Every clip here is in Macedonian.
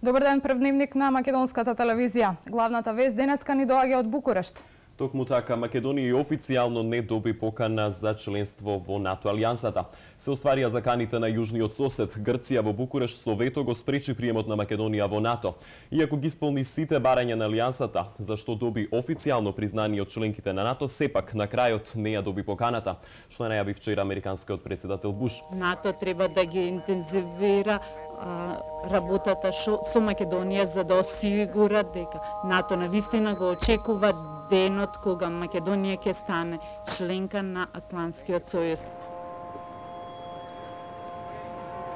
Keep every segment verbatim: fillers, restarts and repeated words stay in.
Добар ден, прв дневник на македонската телевизија. Главната вест денеска ни доаѓа од Букурешт. Токму така, Македонија официјално не доби покана за членство во НАТО алијансата. Се остварија заканите на јужниот сосед. Грција во Букурешт со вето го спречи приемот на Македонија во НАТО. Иако ги исполни сите барања на алијансата, зашто доби официјално признание од членките на НАТО, сепак на крајот не ја доби поканата, што најави вчера американскиот председател Буш. НАТО треба да ги интензивира работата со Македонија за да осигура дека НАТО навистина го очекува денот кога Македонија ќе стане членка на Атлантскиот сојуз.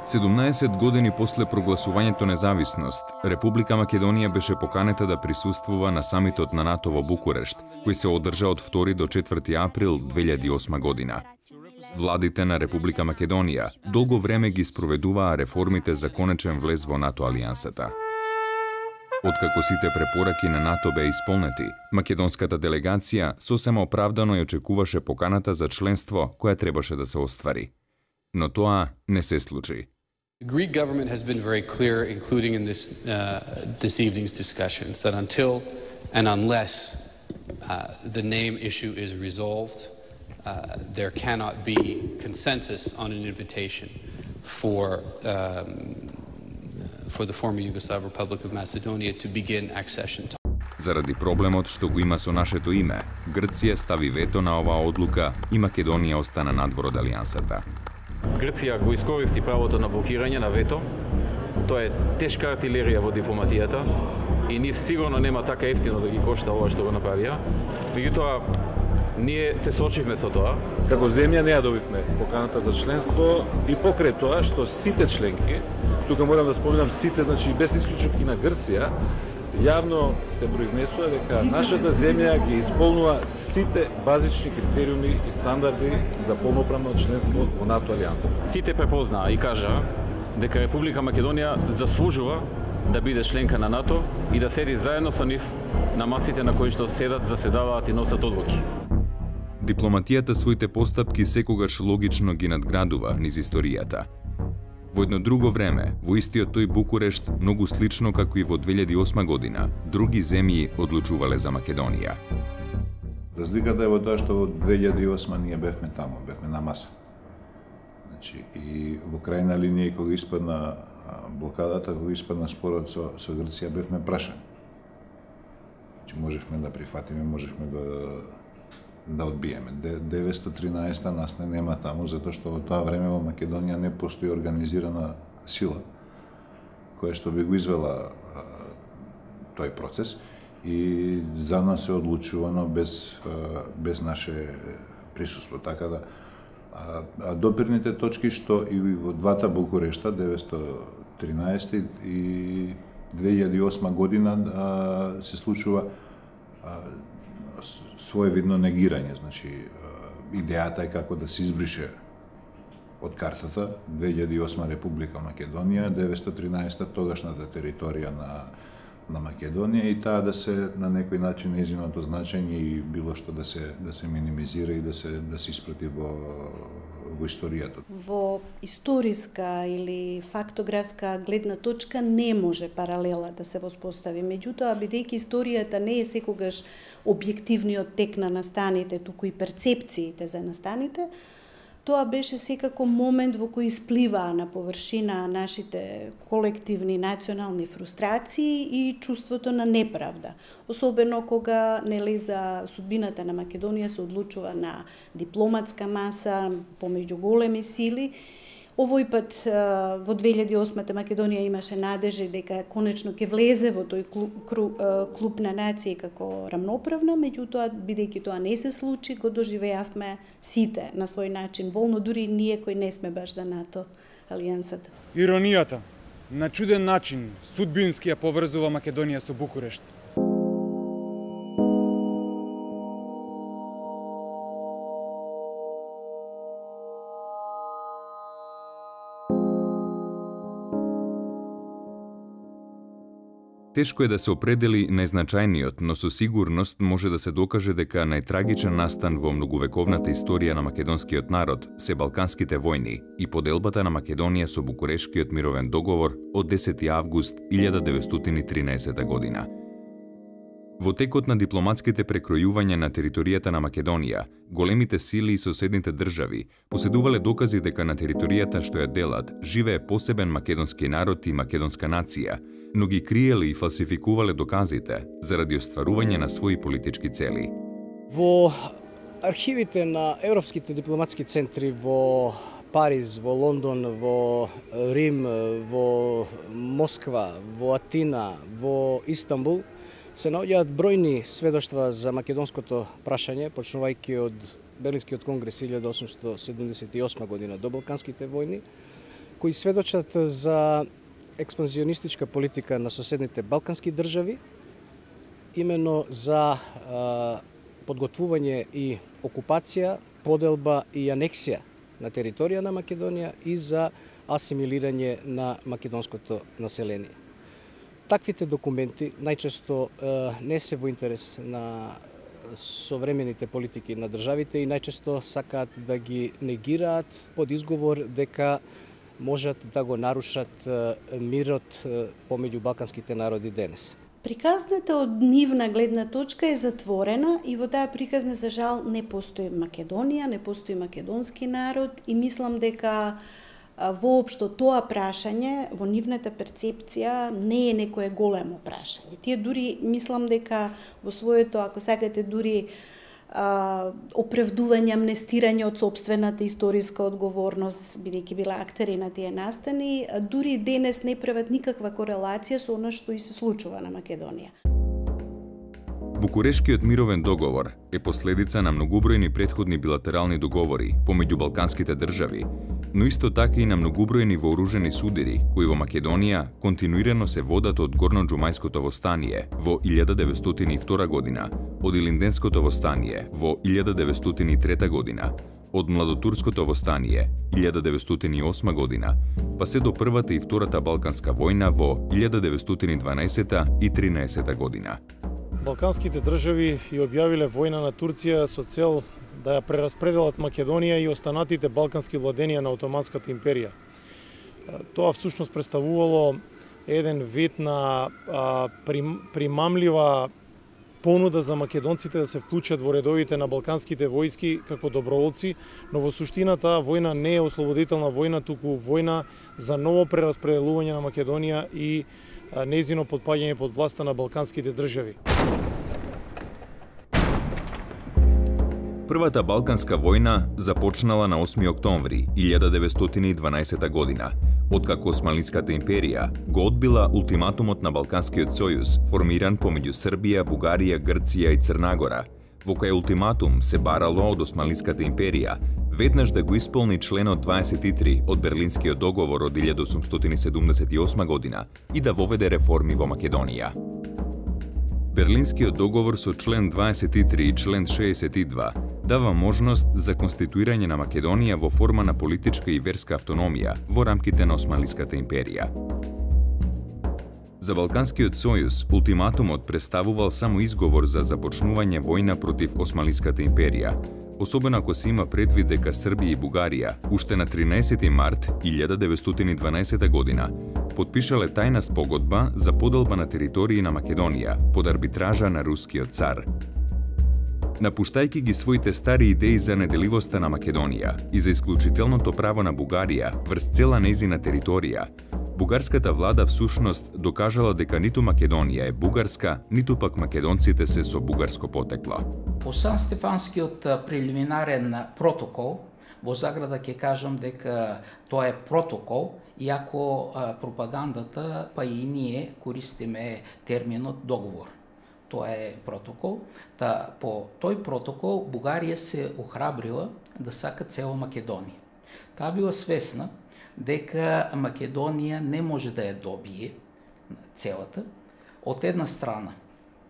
седумнаесет години после прогласувањето независност, Република Македонија беше поканета да присуствува на самитот на НАТО во Букурешт, кој се одржа од втори до четврти април две илјади и осма година. Владите на Република Македонија долго време ги спроведуваа реформите за конечен влез во НАТО алијансата. Откако сите препораки на НАТО беа исполнети, македонската делегација сосема оправдано ја очекуваше поканата за членство која требаше да се оствари. Но тоа не се случи. The Greek government has been very clear, including in this uh, this evening's discussions, that until and unless uh, the name issue is resolved, uh, there cannot be consensus on an invitation for um, for the former Yugoslav Republic of Macedonia to begin accession. Заради проблемот што го има со нашето име, Грција стави вето на оваа одлука и Македонија остана надвор од алијансата. Грција го искористи правото на блокирање на вето. Тоа е тешка артилерија во дипломатијата и нив сигурно нема така ефтино да ги кошта ова што го направија. Меѓутоа, ние се сочивме со тоа. Како земја не ја добивме поканата за членство и покрај тоа што сите членки, тука морам да споменам сите, значи без исклучок и на Грција, јавно се произнесува дека нашата земја ги исполнува сите базични критериуми и стандарди за полноправно членство во НАТО алијансата. Сите препознаа и кажаа дека Република Македонија заслужува да биде членка на НАТО и да седи заедно со нив на масите на кои што седат, заседаваат и носат одлуки. Дипломатијата своите постапки секогаш логично ги надградува низ историјата. Во едно друго време, во истиот тој Букурешт, многу слично како и во две илјади и осма година, други земји одлучувале за Македонија. Разликата е во тоа што во две илјади и осма ние бевме таму, бевме на маса. Значи, и во крајна линија, кога испадна блокадата, кога испадна спорот со, со Грција, бевме прашани. Значи, можевме да прифатиме, можевме да да одбиеме. деветстотини и тринаесета нас не нема таму, затоа што во тоа време во Македонија не постои организирана сила која што би го извела а, тој процес и за нас е одлучувано без, а, без наше присуство. Така да, а, а допирните точки што и во двата Букурешта, деветстотини и тринаесета и две илјади и осма година, а, се случува а, своевидно негирање, значи идејата е како да се избрише од картата две илјади и осма Република Македонија, деветстотини и тринаесета тогашната територија на на Македонија и таа да се на некој начин нејзиното значење и било што да се да се минимизира и да се да се испрати во во историјата. Во историска или фактографска гледна точка не може паралела да се воспостави. Меѓутоа, бидејќи историјата не е секогаш објективниот тек на настаните, туку и перцепциите за настаните, тоа беше секако момент во кој испливаа на површина нашите колективни национални фрустрации и чувството на неправда. Особено кога нели за судбината на Македонија се одлучува на дипломатска маса помеѓу големи сили. Овој пат во две илјади и осма Македонија имаше надежи дека конечно ќе влезе во тој клуб, клуб на нации како рамноправна, меѓутоа бидејќи тоа не се случи, го доживеавме сите на свој начин болно, дури ние кои не сме баш за НАТО алијансата. Иронијата на чуден начин судбински ја поврзува Македонија со Букурешт. Тешко е да се определи најзначајниот, но со сигурност може да се докаже дека најтрагичен настан во многувековната историја на македонскиот народ се Балканските војни и поделбата на Македонија со Букурешкиот мировен договор од десети август илјада деветстотини и тринаесета година. Во текот на дипломатските прекројувања на територијата на Македонија, големите сили и соседните држави поседувале докази дека на територијата што ја делат живее посебен македонски народ и македонска нација, но ги криеле и фалсификувале доказите заради остварување на своји политички цели. Во архивите на европските дипломатски центри во Париз, во Лондон, во Рим, во Москва, во Атина, во Истанбул се наоѓаат бројни сведоштва за македонското прашање, почнувајќи од Берлинскиот конгрес илјада осумстотини седумдесет и осма година до Балканските војни, кои сведочат за експанзионистичка политика на соседните балкански држави, именно за а, подготвување и окупација, поделба и анексија на територија на Македонија и за асимилирање на македонското население. Таквите документи најчесто е, не се во интерес на современите политики на државите и најчесто сакаат да ги негираат под изговор дека можат да го нарушат е, мирот е, помеѓу балканските народи денес. Приказната од нивна гледна точка е затворена и во таа приказна за жал не постои Македонија, не постои македонски народ и мислам дека воопшто тоа прашање во нивната перцепција не е некое големо прашање. Тие дури мислам дека во своето, ако сакате, дури а, оправдување, амнестирање од сопствената историска одговорност, бидејќи била актери на тие настани, дури денес не прават никаква корелација со она што и се случува на Македонија. Букурешкиот мировен договор е последица на многубројни претходни билатерални договори помеѓу балканските држави, но исто така и на многубројни вооружени судири кои во Македонија континуирано се водат од Горноџумајското востание во илјада деветстотини и втора година, од Илинденското востание во илјада деветстотини и трета година, од Младотурското востание илјада деветстотини и осма година, па се до првата и втората Балканска војна во илјада деветстотини и дванаесета и тринаесета година. Балканските држави ја објавиле војна на Турција со цел да ја прераспределат Македонија и останатите балкански владенија на Отоманската империја. Тоа всушност представувало еден вид на а, прим, примамлива понуда за македонците да се вклучат во редовите на балканските војски како доброволци, но во суштина таа војна не е ослободителна војна, туку војна за ново прераспределување на Македонија и а, нејзино потпаѓање под власта на балканските држави. Првата Балканска војна започнала на осми октомври илјада деветстотини и дванаесета година, откако Османлиската империја го одбила ултиматумот на Балканскиот сојуз, формиран помеѓу Србија, Бугарија, Грција и Црна Гора, во кој ултиматум се барало од Османлиската империја веднаш да го исполни членот дваесет и три од Берлинскиот договор од илјада осумстотини седумдесет и осма година и да воведе реформи во Македонија. Берлинскиот договор со член дваесет и три и член шеесет и два дава можност за конституирање на Македонија во форма на политичка и верска автономија во рамките на Османлиската империја. За Балканскиот сојуз, ултиматумот представувал само изговор за започнување војна против Османлиската империја, особено ако се има предвид дека Србија и Бугарија уште на тринаесети март илјада деветстотини и дванаесета година потпишале тајна спогодба за поделба на територии на Македонија под арбитража на рускиот цар. Напуштајќи ги своите стари идеи за неделивоста на Македонија и за исклучителното право на Бугарија врз цела нејзина територија, бугарската влада всушност докажала дека ниту Македонија е бугарска, ниту пак македонците се со бугарско потекло. По Сан-Стефанскиот прелиминарен протокол, во заграда ќе кажам дека тоа е протокол, иако пропагандата, па и ние користиме терминот договор. Тоа е протокол. Та по тој протокол Бугарија се охрабрила да сака цела Македонија. Таа била свесна дека Македонија не може да ја добие целата, од една страна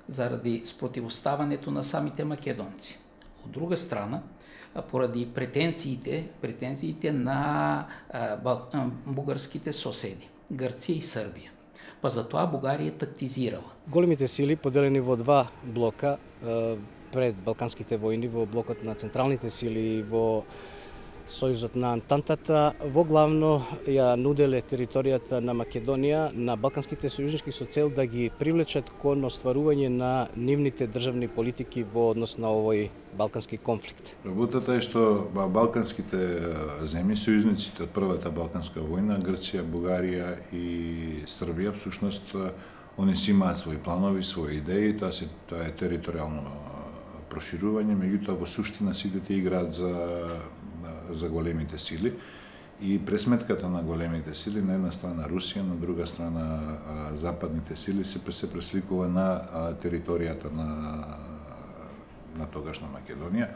заради спротивоставането на самите македонци. Од друга страна, поради претенциите, претенциите на а, бугарските соседи, Грција и Србија. Па затоа Бугарија тактизирала. Големите сили поделени во два блока пред Балканските војни, во блокот на централните сили и во Сојузот на Антантата, во главно ја нуделе територијата на Македонија на балканските сојужнички со цел да ги привлечат кон остварување на нивните државни политики во однос на овој балкански конфликт. Работата е што балканските земји, сојузниците од првата балканска војна, Грција, Бугарија и Србија, всушност, они си имаат своји планови, своји идеи, тоа се тоа е територијално проширување, меѓутоа во суштина сите те играат за за големите сили и пресметката на големите сили, на една страна Русија, на друга страна западните сили се се пресликува на територијата на на тогашна Македонија.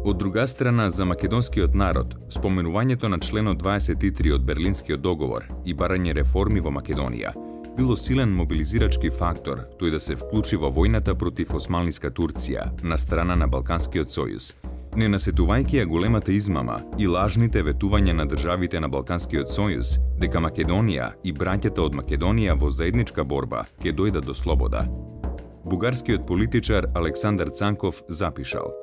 Од друга страна, за македонскиот народ, споменувањето на членот дваесет и три од Берлинскиот договор и барање реформи во Македонија било силен мобилизирачки фактор тој да се вклучи во војната против османлиска Турција на страна на Балканскиот сојуз, не насетувајќи ја големата измама и лажните ветувања на државите на Балканскиот сојуз дека Македонија и браќата од Македонија во заедничка борба ќе дојдат до слобода. Бугарскиот политичар Александар Цанков запишал: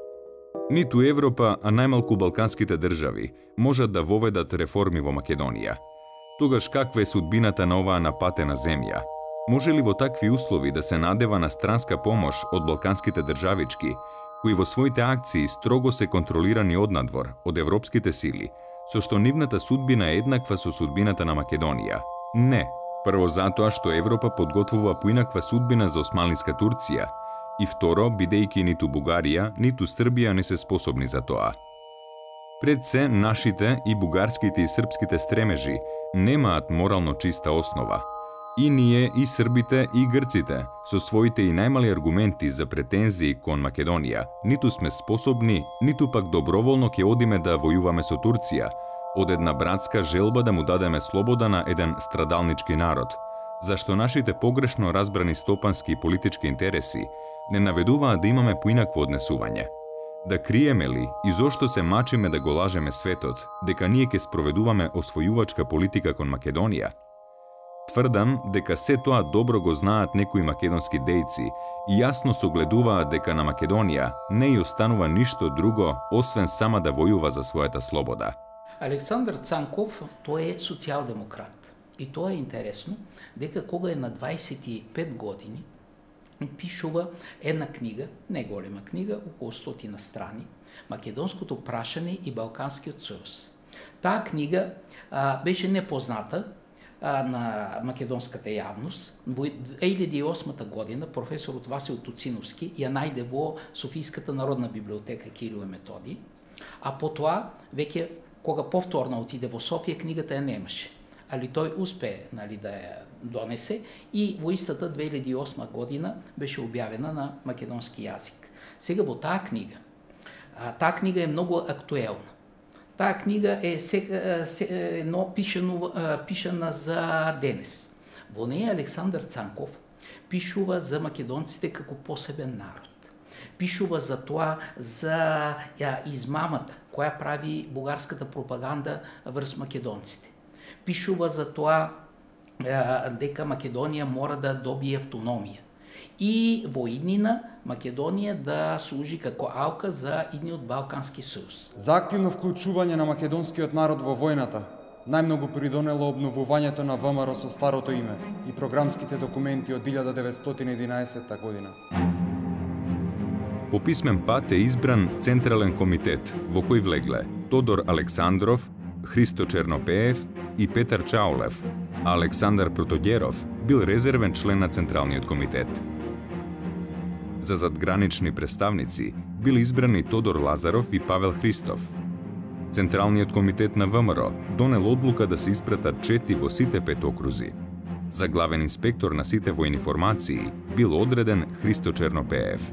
Ниту Европа, а најмалку балканските држави можат да воведат реформи во Македонија. Тогаш каква е судбината на оваа напатена земја? Може ли во такви услови да се надева на странска помош од балканските државички, кои во своите акции строго се контролирани однадвор од европските сили, со што нивната судбина е еднаква со судбината на Македонија? Не. Прво затоа што Европа подготвува поинаква судбина за османлиска Турција и второ, бидејќи ниту Бугарија, ниту Србија не се способни за тоа. Пред се, нашите и бугарските и српските стремежи немаат морално чиста основа. И ние, и србите, и грците, со своите и најмали аргументи за претензии кон Македонија, ниту сме способни, ниту пак доброволно ќе одиме да војуваме со Турција, од една братска желба да му дадеме слобода на еден страдалнички народ, зашто нашите погрешно разбрани стопански и политички интереси не наведуваат да имаме поинакво однесување. Да криеме ли и зошто се мачиме да го лажеме светот дека ние ќе спроведуваме освојувачка политика кон Македонија? Тврдам дека се тоа добро го знаат некои македонски дејци и јасно согледуваат дека на Македонија не ја останува ништо друго освен сама да војува за својата слобода. Александар Цанков, тој е социјалдемократ. И тоа е интересно, дека кога е на дваесет и пет години, пишува една книга, не голема книга, околу стотина страни, Македонското прашање и Балканскиот сојуз. Таа книга а, беше непозната а, на македонската јавност. Во две илјади и осма година професорот Васил Туциновски ја најде во Софијската народна библиотека Кирил и Методий, а потоа, веќе кога повторно отиде во Софија, книгата ја немаше. Али тој успее, нали, да ја донесе и во истата две илјади и осма година беше објавена на македонски јазик. Сега во таа книга, а, таа книга е многу актуелна. Таа книга е сега едно пишано, пишана за денес. Во неја Александар Цанков пишува за македонците како посебен народ. Пишува за тоа, за ја, измамата која прави бугарската пропаганда врз македонците. Пишува за тоа дека Македонија мора да добие автономија и во иднина Македонија да служи како алка за идниот Балкански сојуз. За активно вклучување на македонскиот народ во војната најмногу придонело обновувањето на ВМРО со старото име и програмските документи од илјада деветстотини и единаесетта година. По писмен пат е избран Централен комитет во кој влегле Тодор Александров, Христо Чернопеев и Петар Чаулев, а Александар Протогеров бил резервен член на Централниот комитет. За задгранични представници били избрани Тодор Лазаров и Павел Христов. Централниот комитет на ВМРО донел одлука да се испратат чети во сите пет окрузи. За главен инспектор на сите војни формации бил одреден Христо Чернопеев.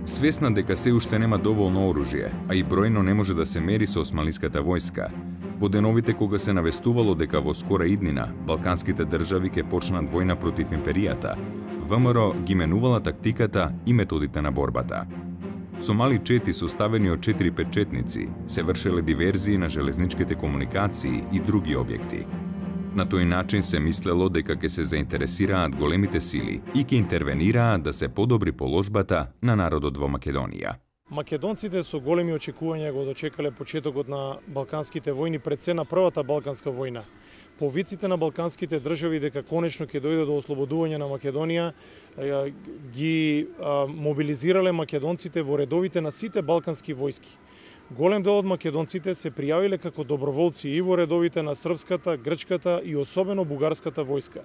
Свесна дека се уште нема доволно оружје, а и бројно не може да се мери со османлиската војска, во деновите кога се навестувало дека во скора иднина балканските држави ќе почнат војна против империјата, ВМРО ги менувала тактиката и методите на борбата. Со мали чети составени од четири-пет четници се вршеле диверзии на железничките комуникации и други објекти. На тој начин се мислело дека ќе се заинтересираат големите сили и ќе интервенираат да се подобри положбата на народот во Македонија. Македонците со големи очекувања го дочекале почетокот на Балканските војни, пред се на првата Балканска војна. Повиците на балканските држави дека конечно ќе дојде до ослободување на Македонија ги мобилизирале македонците во редовите на сите балкански војски. Голем дел од македонците се пријавиле како доброволци и во редовите на српската, грчката и особено бугарската војска.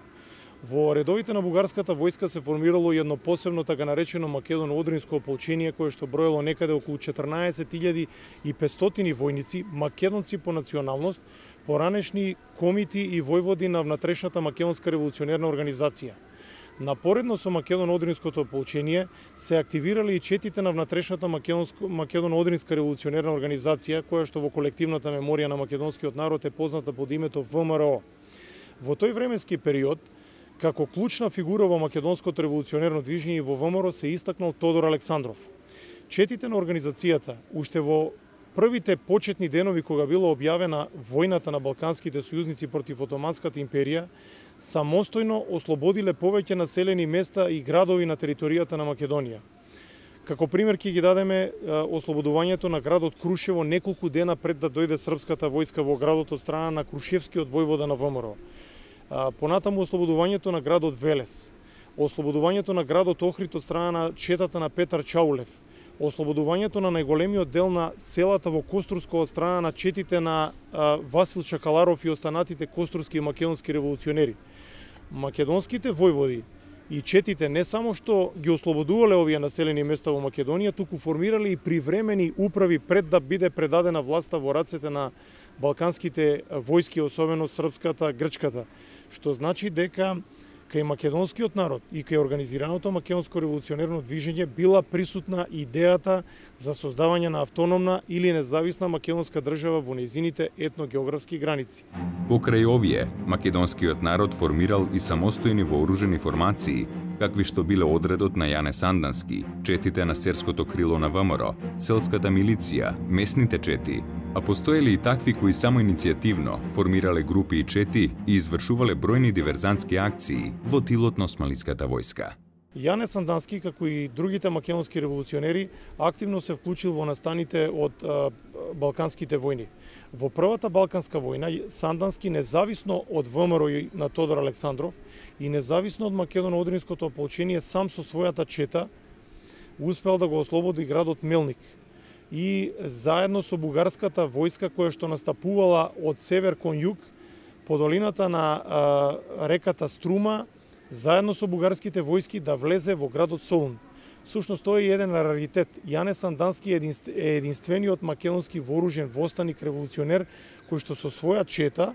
Во редовите на бугарската војска се формирало едно посебно така наречено македоно-одринско ополчение кое што броело некаде околу четрнаесет илјади и петстотини војници, македонци по националност, поранешни комити и војводи на внатрешната македонска револуционерна организација. Напоредно со македоно-одринското ополчение се активирали и четите на внатрешната македоно-одринска револуционерна организација, која што во колективната меморија на македонскиот народ е позната под името В М Р О. Во тој временски период, како клучна фигура во македонското револуционерно движење и во В М Р О се истакнал Тодор Александров. Четите на организацијата, уште во првите почетни денови кога била објавена војната на балканските сојузници против Отоманската империја, самостојно ослободиле повеќе населени места и градови на територијата на Македонија. Како пример ќе ги дадеме ослободувањето на градот Крушево неколку дена пред да дојде српската војска во градот од страна на Крушевскиот војвода на В М Р О. Понатаму ослободувањето на градот Велес, ослободувањето на градот Охрид од страна на четата на Петар Чаулев, ослободувањето на најголемиот дел на селата во Костурско од страна на четите на а, Васил Чакаларов и останатите костурски и македонски револуционери. Македонските војводи и четите не само што ги ослободувале овие населени места во Македонија, туку формирале и привремени управи пред да биде предадена власта во рацете на балканските војски, особено српската, грчката, што значи дека кај македонскиот народ и кај организираното македонско револуционерно движење била присутна идејата за создавање на автономна или независна македонска држава во нејзините етногеографски граници. Покрај овие, македонскиот народ формирал и самостојни вооружени формации, какви што биле одредот на Јане Сандански, четите на серското крило на В М Р О, селската милиција, местните чети, а постоеле и такви кои само иницијативно формирале групи и чети и извршувале бројни диверзантски акции во тилот на османлиската војска. Јане Сандански, како и другите македонски револуционери, активно се вклучил во настаните од а, Балканските војни. Во првата Балканска војна, Сандански, независно од В М Р О и на Тодор Александров и независно од македоно-одринското ополчение, сам со својата чета успел да го ослободи градот Мелник и заедно со бугарската војска која што настапувала од север кон југ по долината на а, реката Струма, заедно со бугарските војски да влезе во градот Солун. Всушност тој е еден раритет. Јане Сандански е единствениот македонски вооружен востаник револуционер кој што со своја чета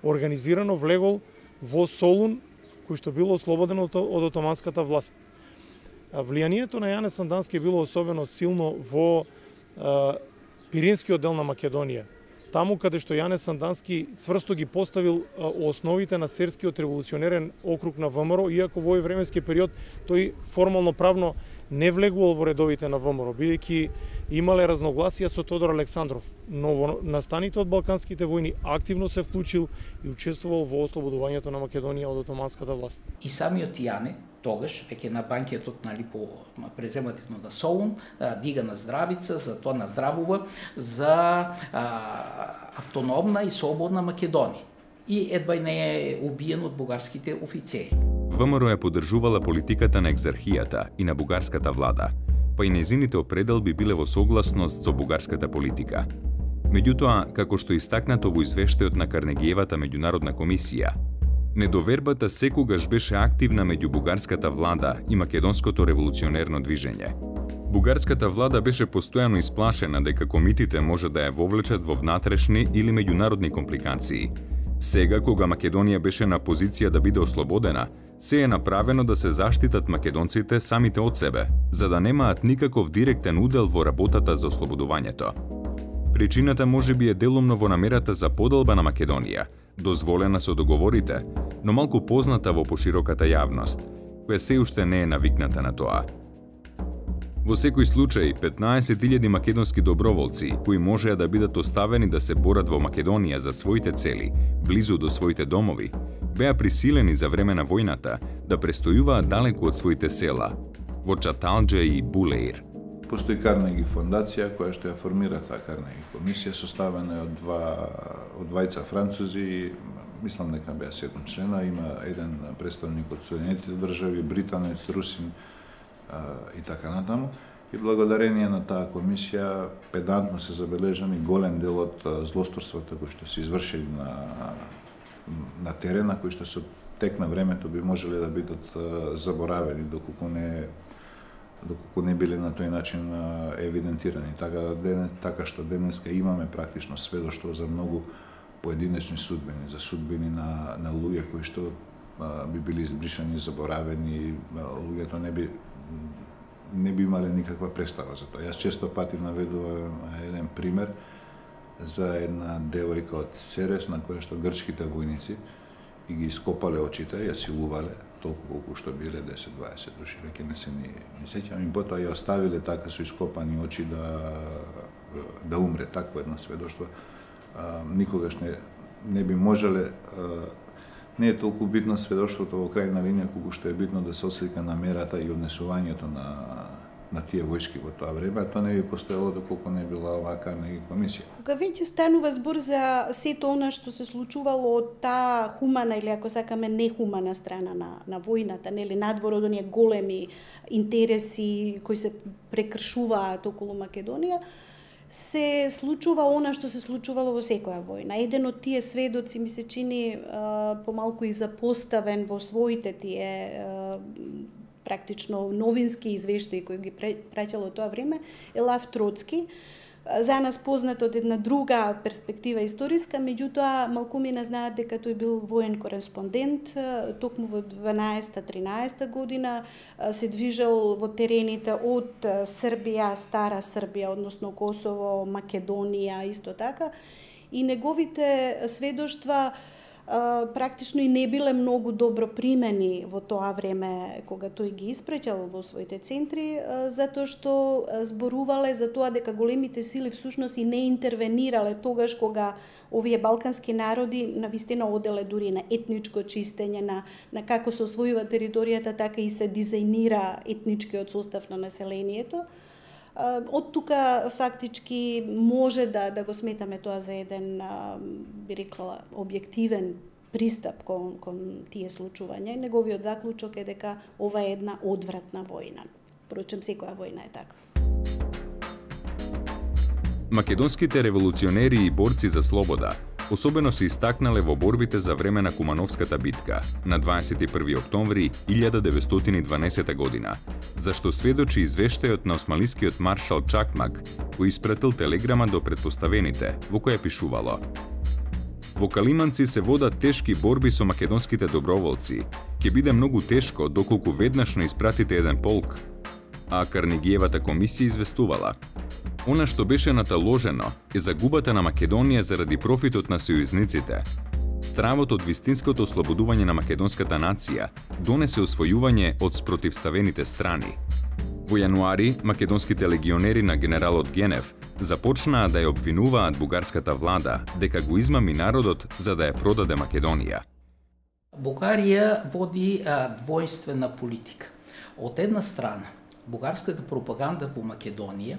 организирано влегол во Солун, кој што било ослободено од отоманската власт. Влијанието на Јане Сандански било особено силно во а, Пиринскиот дел на Македонија. Таму каде што Јане Сандански цврсто ги поставил а, основите на серскиот револуционерен округ на В М Р О, иако во овој временски период тој формално правно не влегувал во редовите на В М Р О, бидејќи имале разногласија со Тодор Александров, но во настаните од Балканските војни активно се вклучил и учествувал во ослободувањето на Македонија од отоманската власт. И самиот Јане тогаш, веќе на банкетот, нали, по преземативно на Солун, дига на здравица, за тоа наздравува за а, автономна и слободна Македонија. И едва не е убиен од бугарските офицери. В М Р О ја поддржувала политиката на екзархијата и на бугарската влада, па и незините определби биле во согласност со бугарската политика. Меѓутоа, како што истакнато во извештајот на Карнегиевата меѓународна комисија, недовербата секогаш беше активна меѓу бугарската влада и македонското револуционерно движење. Бугарската влада беше постојано исплашена дека комитите може да ја вовлечат во внатрешни или меѓународни компликации. Сега, кога Македонија беше на позиција да биде ослободена, се е направено да се заштитат македонците самите од себе, за да немаат никаков директен удел во работата за ослободувањето. Причината можеби е делумно во намерата за поделба на Македонија, дозволена со договорите, но малку позната во пошироката јавност, која се уште не е навикната на тоа. Во секој случај, петнаесет илјади македонски доброволци, кои можеа да бидат оставени да се борат во Македонија за своите цели, близу до своите домови, беа присилени за време на војната да престојуваат далеку од своите села, во Чаталџа и Булеир. Постои Карнеги фондација која што ја формира таа Карнеги комисија, составена од два од двајца французи, мислам дека беа седум члена, има еден представник од Соединетите држави, британец, русин и така натаму. И благодарение на таа комисија педантно се забележани голем дел од злосторствата кои што се извршени на на терена, кои што со тек на времето би можеле да бидат заборавени доколку не доколку не биле на тој начин евидентирани. Така денес, така што денеска имаме практично сведоштво за многу поединечни судбини, за судбини на на луѓе кои што а, би били избришани, заборавени, луѓето не би не би имале никаква представа за тоа. Јас често пати наведувам еден пример за една девојка од Серес на која што грчките војници и ги ископале очите, ја силувале, толку колку што биле десет-дваесет души, веќе не се ни, не сеќам, и потоа ја оставиле така со ископани очи да да умре. Такво едно сведоштво а, никогаш не не би можеле. А, не е толку битно сведоштвото во крајна линија колку што е битно да се ослика намерата и однесувањето на на тие војски во тоа време, а тоа не би постоело доколку не била оваа Карнеги комисија. Кога веќе станува збор за сето она што се случувало од таа хумана или ако сакаме нехумана страна на на војната, нели надвор од оние големи интереси кои се прекршуваат околу Македонија, се случува она што се случувало во секоја војна. Еден од тие сведоци ми се чини а, помалку и запоставен во своите тие а, практично новински извештаи кои ги праќало тоа време е Лав Троцки. За нас познат од една друга перспектива историска, меѓутоа малкумина знаат дека тој бил воен кореспондент, токму во дванаесета-тринаесета година се движел во терените од Србија, Стара Србија, односно Косово, Македонија, исто така, и неговите сведоштва практично и не биле многу добро примени во тоа време кога тој ги испреќал во своите центри, затоа што зборувале за тоа дека големите сили всушност и не интервенирале тогаш кога овие балкански народи навистина оделе дури на етничко чистење, на, на како се освојува територијата, така и се дизајнира етничкиот состав на населението. Од тука фактички може да да го сметаме тоа за еден, би рекла, објективен пристап кон кон тие случувања. Неговиот заклучок е дека ова е една одвратна војна. Впрочем, секоја војна е таква. Македонските револуционери и борци за слобода особено се истакнале во борбите за време на Кумановската битка на дваесет и први октомври илјада деветстотини и дванаесета година, зашто сведочи извештајот на османлискиот маршал Чакмак, кој испратил телеграма до претпоставените, во која пишувало: Во Калиманци се водат тешки борби со македонските доброволци. Ќе биде многу тешко доколку веднаш не испратите еден полк. А Карнегиевата комисија известувала: Она што беше наталожено е загубата на Македонија заради профитот на сојузниците. Стравот од вистинското ослободување на македонската нација донесе освојување од спротивставените страни. Во јануари, македонските легионери на генералот Генев започнаа да ја обвинуваат бугарската влада дека го измами народот за да ја продаде Македонија. Бугарија води а, двојствена политика. Од една страна, бугарската пропаганда во Македонија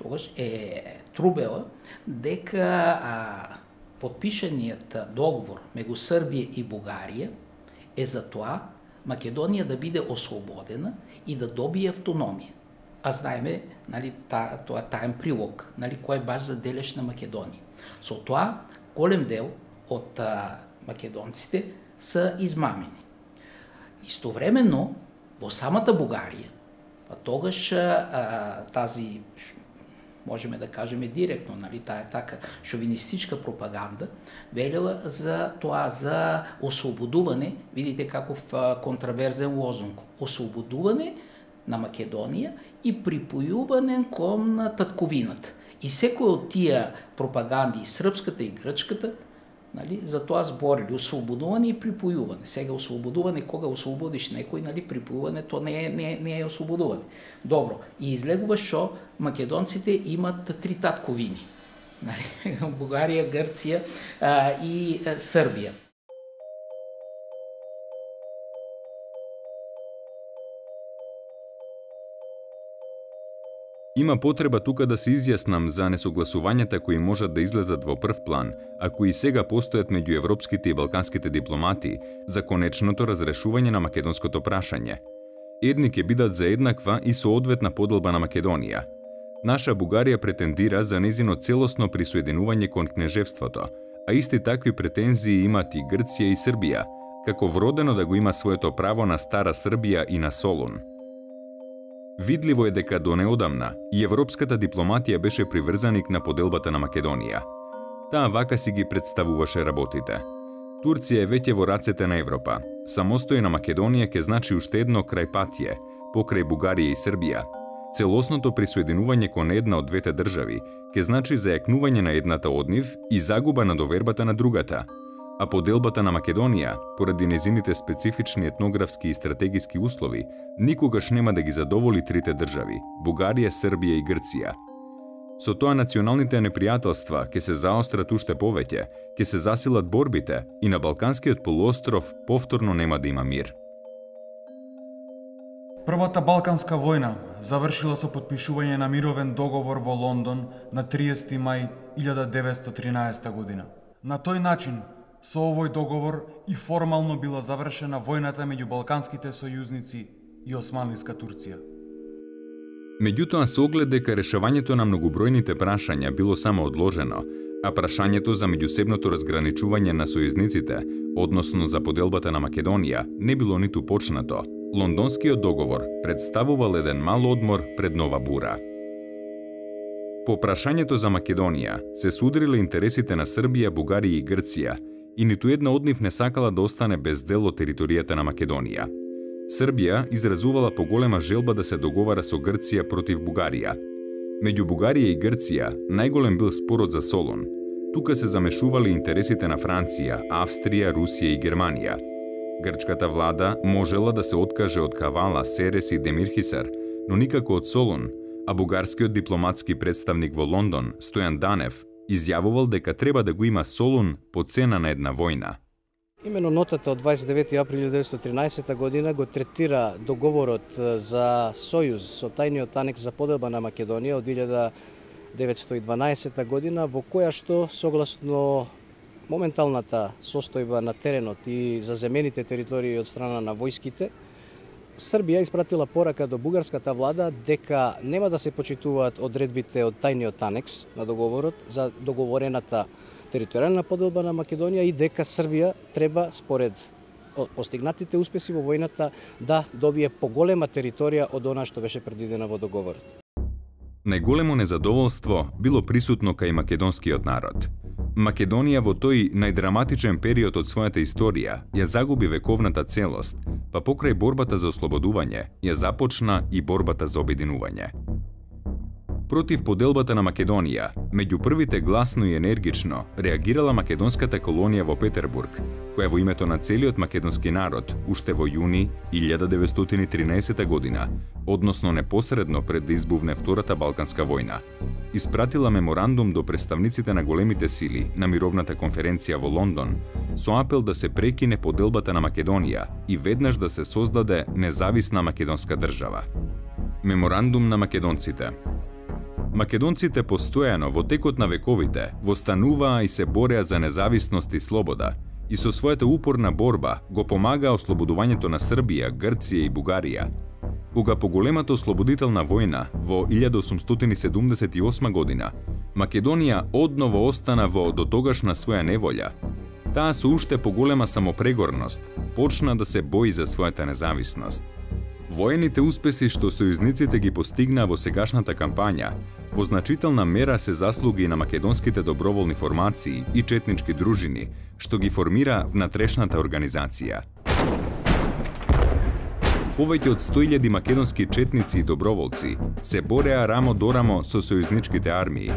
тогаш е трубела дека а, подпишаниот договор меѓу Србија и Бугарија е за тоа Македонија да биде ослободена и да добие автономија. А знаеме, нали, та, тоа таен прилог, нали, кој е баш за дележ на Македонија. Со тоа голем дел од а, македонците се измамени. Истовремено во самата Бугарија, па тогаш а, тази можеме да кажеме директно, нали, таа така шовинистичка пропаганда велела за тоа за ослободување, видите каков контраверзен лозунг, ослободување на Македонија и припојување кон татковината. И секој од тие пропаганди, и српската и грчката, Нали, за тоа зборили ослободување и припојување. Сега ослободување, кога ослободиш некој, нали, припојување, то не е, не, не е ослободување. Добро, и излегува што македонците имат три татковини. Нали, Бугарија, Грција а, и а, Србија. Има потреба тука да се изјаснам за несогласувањата кои можат да излезат во прв план, а кои сега постојат меѓу европските и балканските дипломати за конечното разрешување на македонското прашање. Едни ќе бидат за еднаква и соодветна поделба на Македонија. Наша Бугарија претендира за незино целосно присоединување кон кнежевството, а исти такви претензии имат и Грција и Србија, како вродено да го има своето право на Стара Србија и на Солун. Видливо е дека до неодамна и европската дипломатија беше приврзаник на поделбата на Македонија. Таа вака си ги представуваше работите. Турција е веќе во рацете на Европа. Самостојна Македонија ќе значи уште едно крајпатие, покрај Бугарија и Србија. Целосното присоединување кон една од двете држави ќе значи зајакнување на едната од нив и загуба на довербата на другата. А поделбата на Македонија, поради незините специфични етнографски и стратегиски услови, никогаш нема да ги задоволи трите држави – Бугарија, Србија и Грција. Со тоа националните непријателства ќе се заострат уште повеќе, ќе се засилат борбите и на Балканскиот полуостров повторно нема да има мир. Првата Балканска војна завршила со подпишување на мировен договор во Лондон на триесети мај илјада деветстотини и тринаесета година. На тој начин, со овој договор и формално била завршена војната меѓу балканските сојузници и Османлиска Турција. Меѓутоа се оглед дека решавањето на многобројните прашања било само одложено, а прашањето за меѓусебното разграничување на сојузниците, односно за поделбата на Македонија, не било ниту почнато, Лондонскиот договор представувал еден мал одмор пред нова бура. По прашањето за Македонија се судриле интересите на Србија, Бугарија и Грција, и ниту една од нив не сакала да остане без дел од територијата на Македонија. Србија изразувала поголема желба да се договара со Грција против Бугарија. Меѓу Бугарија и Грција најголем бил спорот за Солун. Тука се замешували интересите на Франција, Австрија, Русија и Германија. Грчката влада можела да се откаже од Кавала, Серес и Демирхисар, но никако од Солун, а бугарскиот дипломатски представник во Лондон, Стојан Данев, изјавувал дека треба да го има Солун по цена на една војна. Имено нотата од дваесет и девети април илјада деветстотини и тринадесета година го третира договорот за сојуз со тајниот анекс за поделба на Македонија од илјада деветстотини и дванаесета година, во која што, согласно моменталната состојба на теренот и заземените територии од страна на војските, Србија испратила порака до бугарската влада дека нема да се почитуваат одредбите од тајниот анекс на договорот за договорената територијална поделба на Македонија и дека Србија треба, според постигнатите успеси во војната, да добие поголема територија од она што беше предвидено во договорот. Најголемо незадоволство било присутно кај македонскиот народ. Македонија во тој најдраматичен период од својата историја ја загуби вековната целост, па покрај борбата за ослободување ја започна и борбата за обединување. Против поделбата на Македонија, меѓу првите гласно и енергично реагирала македонската колонија во Петербург, која во името на целиот македонски народ, уште во јуни илјада деветстотини и тринаесета година, односно непосредно пред да избувне Втората Балканска војна, испратила меморандум до представниците на големите сили на мировната конференција во Лондон со апел да се прекине поделбата на Македонија и веднаш да се создаде независна македонска држава. Меморандум на македонците. Македонците постојано во текот на вековите востануваа и се бореа за независност и слобода и со својата упорна борба го помагаа ослободувањето на Србија, Грција и Бугарија. Кога по големата ослободителна војна во илјада осумстотини седумдесет и осма година Македонија одново остана во дотогашна своја неволја, таа со уште поголема самопрегорност почна да се бои за својата независност. Воените успеси што сојузниците ги постигнаа во сегашната кампања во значителна мера се заслуги на македонските доброволни формации и четнички дружини што ги формира внатрешната организација. Повеќе од сто илјади македонски четници и доброволци се бореа рамо до рамо со сојузничките армии.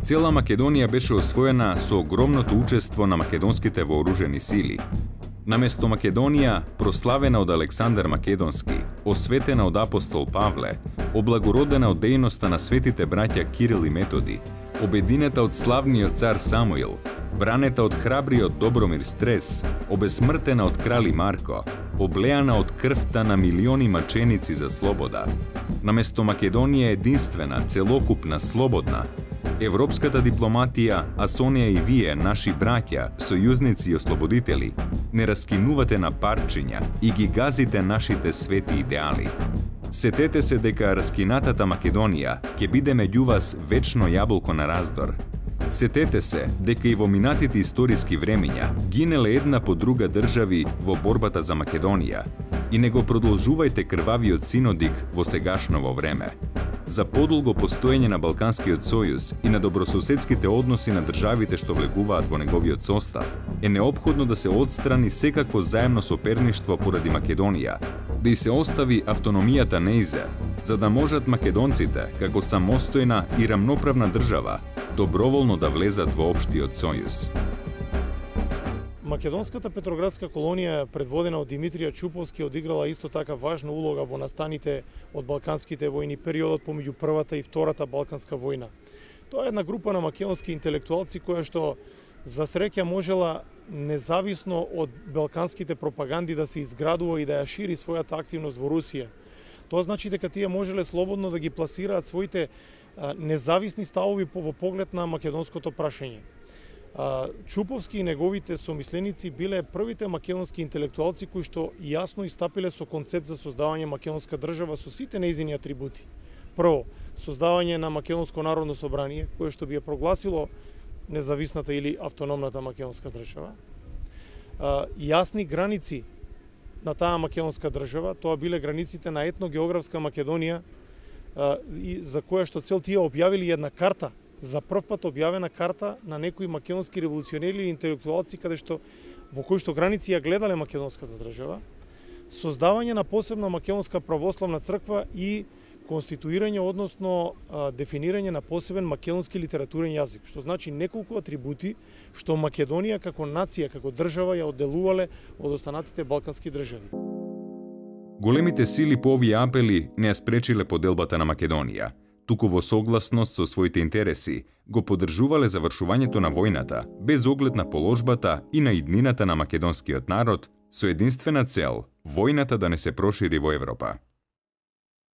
Цела Македонија беше освоена со огромното учество на македонските вооружени сили. Наместо Македонија, прославена од Александар Македонски, осветена од апостол Павле, облагородена од дејноста на светите браќа Кирил и Методи, обединета од славниот цар Самуил, бранета од храбриот Добромир Стрес, обесмртена од крали Марко, облеана од крвта на милиони маченици за слобода. Наместо Македонија единствена, целокупна, слободна, европската дипломатија, а со неја и вие, наши браќа, сојузници и ослободители, не раскинувате на парчиња и ги газите нашите свети идеали. Сетете се дека раскинатата Македонија ќе биде меѓу вас вечно јаболко на раздор. Сетете се дека и во минатите историски времиња гинеле една по друга држави во борбата за Македонија и не го продолжувајте крвавиот синодик во сегашново време. За подолго постоење на Балканскиот сојуз и на добрососедските односи на државите што влегуваат во неговиот состав, е неопходно да се отстрани секакво заемно соперништво поради Македонија, да и се остави автономијата неизе, за да можат македонците, како самостојна и рамноправна држава, доброволно да влезат во општиот сојуз. Македонската петроградска колонија, предводена од Димитрија Чуповски, одиграла исто така важна улога во настаните од Балканските војни периодот помеѓу првата и втората Балканска војна. Тоа е една група на македонски интелектуалци која што за среќа можела независно од балканските пропаганди да се изградува и да ја шири својата активност во Русија. Тоа значи дека тие можеле слободно да ги пласираат своите независни ставови во поглед на македонското прашање. Чуповски и неговите сомисленици биле првите македонски интелектуалци кои што јасно истапиле со концепт за создавање македонска држава со сите нејзини атрибути. Прво, создавање на Македонско народно собрание, кое што би ја прогласило независната или автономната македонска држава. Јасни граници на таа македонска држава, тоа биле границите на етногеографска Македонија, за која што цел тие објавили една карта, за прв пат објавена карта на некои македонски револуционери или интелектуалци каде што во кои што граници ја гледале македонската држава, создавање на посебна македонска православна црква и конституирање, односно дефинирање на посебен македонски литературен јазик, што значи неколку атрибути што Македонија како нација, како држава ја одделувале од останатите балкански држави. Големите сили по овие апели не ја спречиле поделбата на Македонија, туку во согласност со своите интереси го поддржувале завршувањето на војната, без оглед на положбата и на иднината на македонскиот народ, со единствена цел – војната да не се прошири во Европа.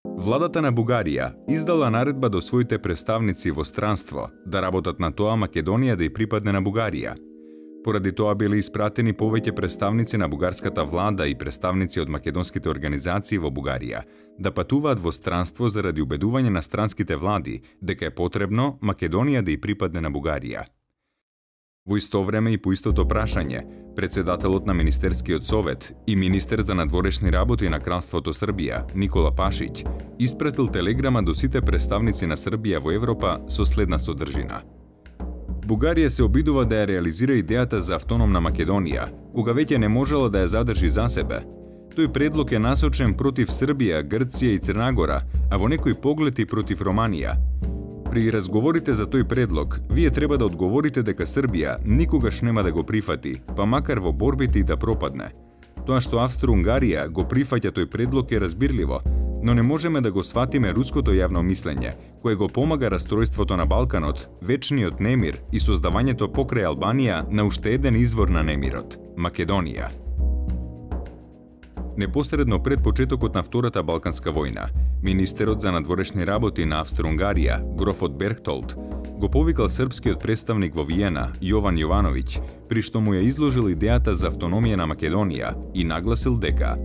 Владата на Бугарија издала наредба до своите представници во странство да работат на тоа Македонија да ја припадне на Бугарија. Поради тоа биле испратени повеќе представници на бугарската влада и представници од македонските организации во Бугарија да патуваат во странство заради убедување на странските влади дека е потребно Македонија да ја припадне на Бугарија. Во исто време и по истото прашање, председателот на Министерскиот совет и министер за надворешни работи на Кралството Србија, Никола Пашиќ, испратил телеграма до сите представници на Србија во Европа со следна содржина. Бугарија се обидува да ја реализира идејата за автономна Македонија, кога веќе не можела да ја задржи за себе. Тој предлог е насочен против Србија, Грција и Црнагора, а во некој поглед и против Романија. При разговорите за тој предлог, вие треба да одговорите дека Србија никогаш нема да го прифати, па макар во борбите и да пропадне. Тоа што Австро-Унгарија го прифаќа тој предлог е разбирливо, но не можеме да го сватиме руското јавно мислење, кое го помага расстройството на Балканот, вечниот немир и создавањето покрај Албанија на уште еден извор на немирот – Македонија. Непосредно пред почетокот на Втората Балканска војна, министерот за надворешни работи на Австро-Унгарија, грофот Берхтолд, го повикал српскиот представник во Виена, Јован Јовановиќ, при што му ја изложил идејата за автономија на Македонија и нагласил дека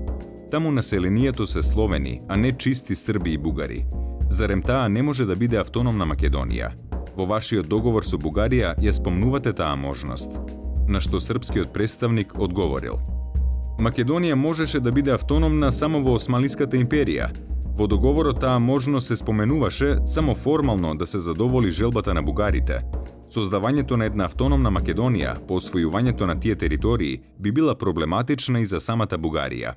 таму населението се словени, а не чисти срби и бугари. Зарем таа не може да биде автономна Македонија? Во вашиот договор со Бугарија ја спомнувате таа можност. На што српскиот представник одговорил: Македонија можеше да биде автономна само во Османлиската империја. Во договорот таа можност се споменуваше само формално да се задоволи желбата на бугарите. Создавањето на една автономна Македонија по освојувањето на тие територии би била проблематична и за самата Бугарија.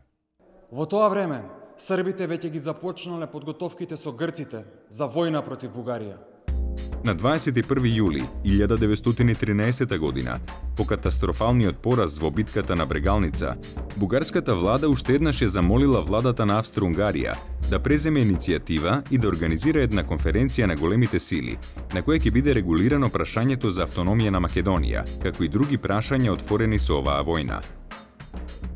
Во тоа време, србите веќе ги започнале подготовките со грците за војна против Бугарија. На дваесет и први јули илјада деветстотини и тринаесета година, по катастрофалниот пораз во битката на Брегалница, бугарската влада уште еднаш ја замолила владата на Австро-Унгарија да преземе иницијатива и да организира една конференција на големите сили, на која ќе биде регулирано прашањето за автономија на Македонија, како и други прашања отворени со оваа војна.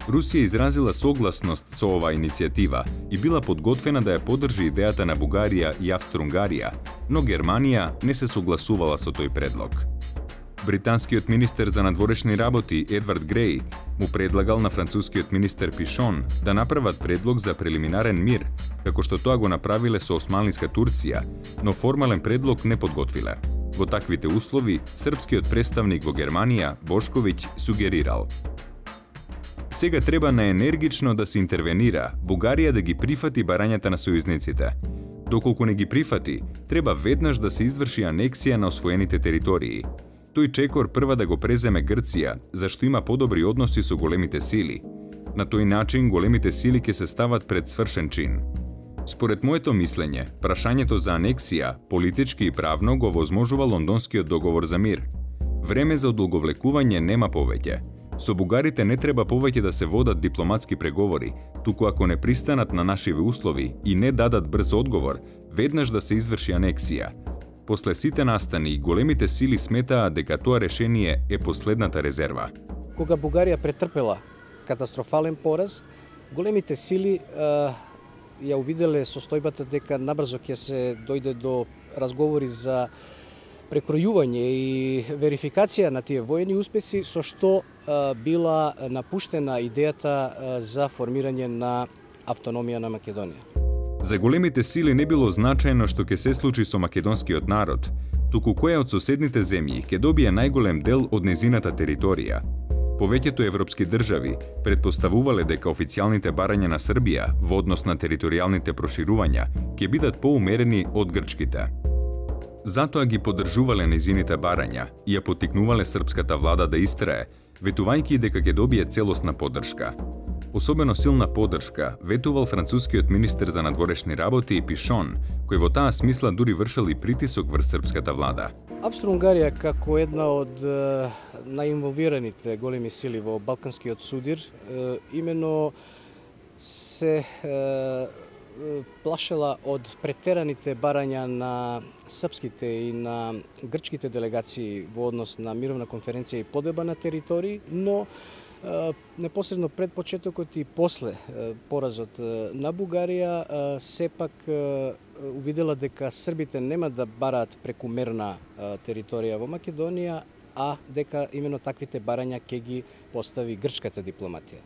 Русија изразила согласност со оваа иницијатива и била подготвена да ја поддржи идејата на Бугарија и Австро-Унгарија, но Германија не се согласувала со тој предлог. Британскиот министер за надворешни работи Едвард Греј му предлагал на францускиот министер Пишон да направат предлог за прелиминарен мир, како што тоа го направиле со османлиска Турција, но формален предлог не подготвиле. Во таквите услови, српскиот представник во Германија, Бошковиќ, сугерирал: сега треба наенергично да се интервенира, Бугарија да ги прифати барањата на сојузниците. Доколку не ги прифати, треба веднаш да се изврши анексија на освоените територии. Тој чекор прва да го преземе Грција, зашто има подобри односи со големите сили. На тој начин големите сили ќе се стават пред свршен чин. Според моето мислење, прашањето за анексија, политички и правно, го возможува Лондонскиот договор за мир. Време за одолговлекување нема повеќе. Со бугарите не треба повеќе да се водат дипломатски преговори, туку ако не пристанат на нашиве услови и не дадат брз одговор, веднаш да се изврши анексија. После сите настани, големите сили сметаа дека тоа решение е последната резерва. Кога Бугарија претрпела катастрофален пораз, големите сили а, ја увиделе состојбата дека набрзо ќе се дојде до разговори за прекројување и верификација на тие воени успеси, со што а, била напуштена идејата а, за формирање на автономија на Македонија. За големите сили не било значајно што ќе се случи со македонскиот народ, туку која од соседните земји ќе добие најголем дел од незината територија. Повеќето европски држави предпоставувале дека официјалните барања на Србија во однос на територијалните проширувања ќе бидат поумерени од грчките. Затоа ги поддржувале незините барања и ја поттикнувале српската влада да истрае, ветувајќи дека ќе добие целосна поддршка. Особено силна поддршка ветувал францускиот министер за надворешни работи Пишон, кој во таа смисла дури вршел и притисок врз српската влада. Австро-Унгарија како една од е, најинволвираните големи сили во Балканскиот судир, е, имено се е, плашела од претераните барања на српските и на грчките делегации во однос на мировна конференција и подоба на територии, но непосредно пред почетокот и после поразот на Бугарија сепак увидела дека србите нема да бараат прекумерна територија во Македонија, а дека именно таквите барања ќе ги постави грчката дипломатија.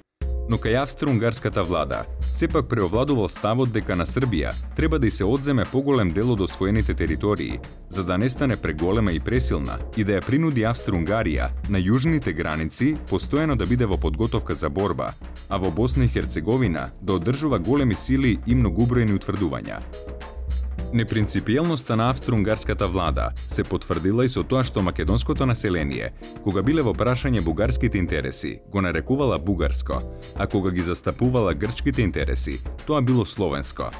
Но кај австро-унгарската влада сепак преовладувал ставот дека на Србија треба да и се одземе поголем дел од освоените територии, за да не стане преголема и пресилна и да ја принуди Австро-Унгарија на јужните граници постојано да биде во подготовка за борба, а во Босна и Херцеговина да одржува големи сили и многубројни утврдувања. Непринципиелноста на австро-унгарската влада се потврдила и со тоа што македонското население, кога биле во прашање бугарските интереси, го нарекувала бугарско, а кога ги застапувала грчките интереси, тоа било словенско.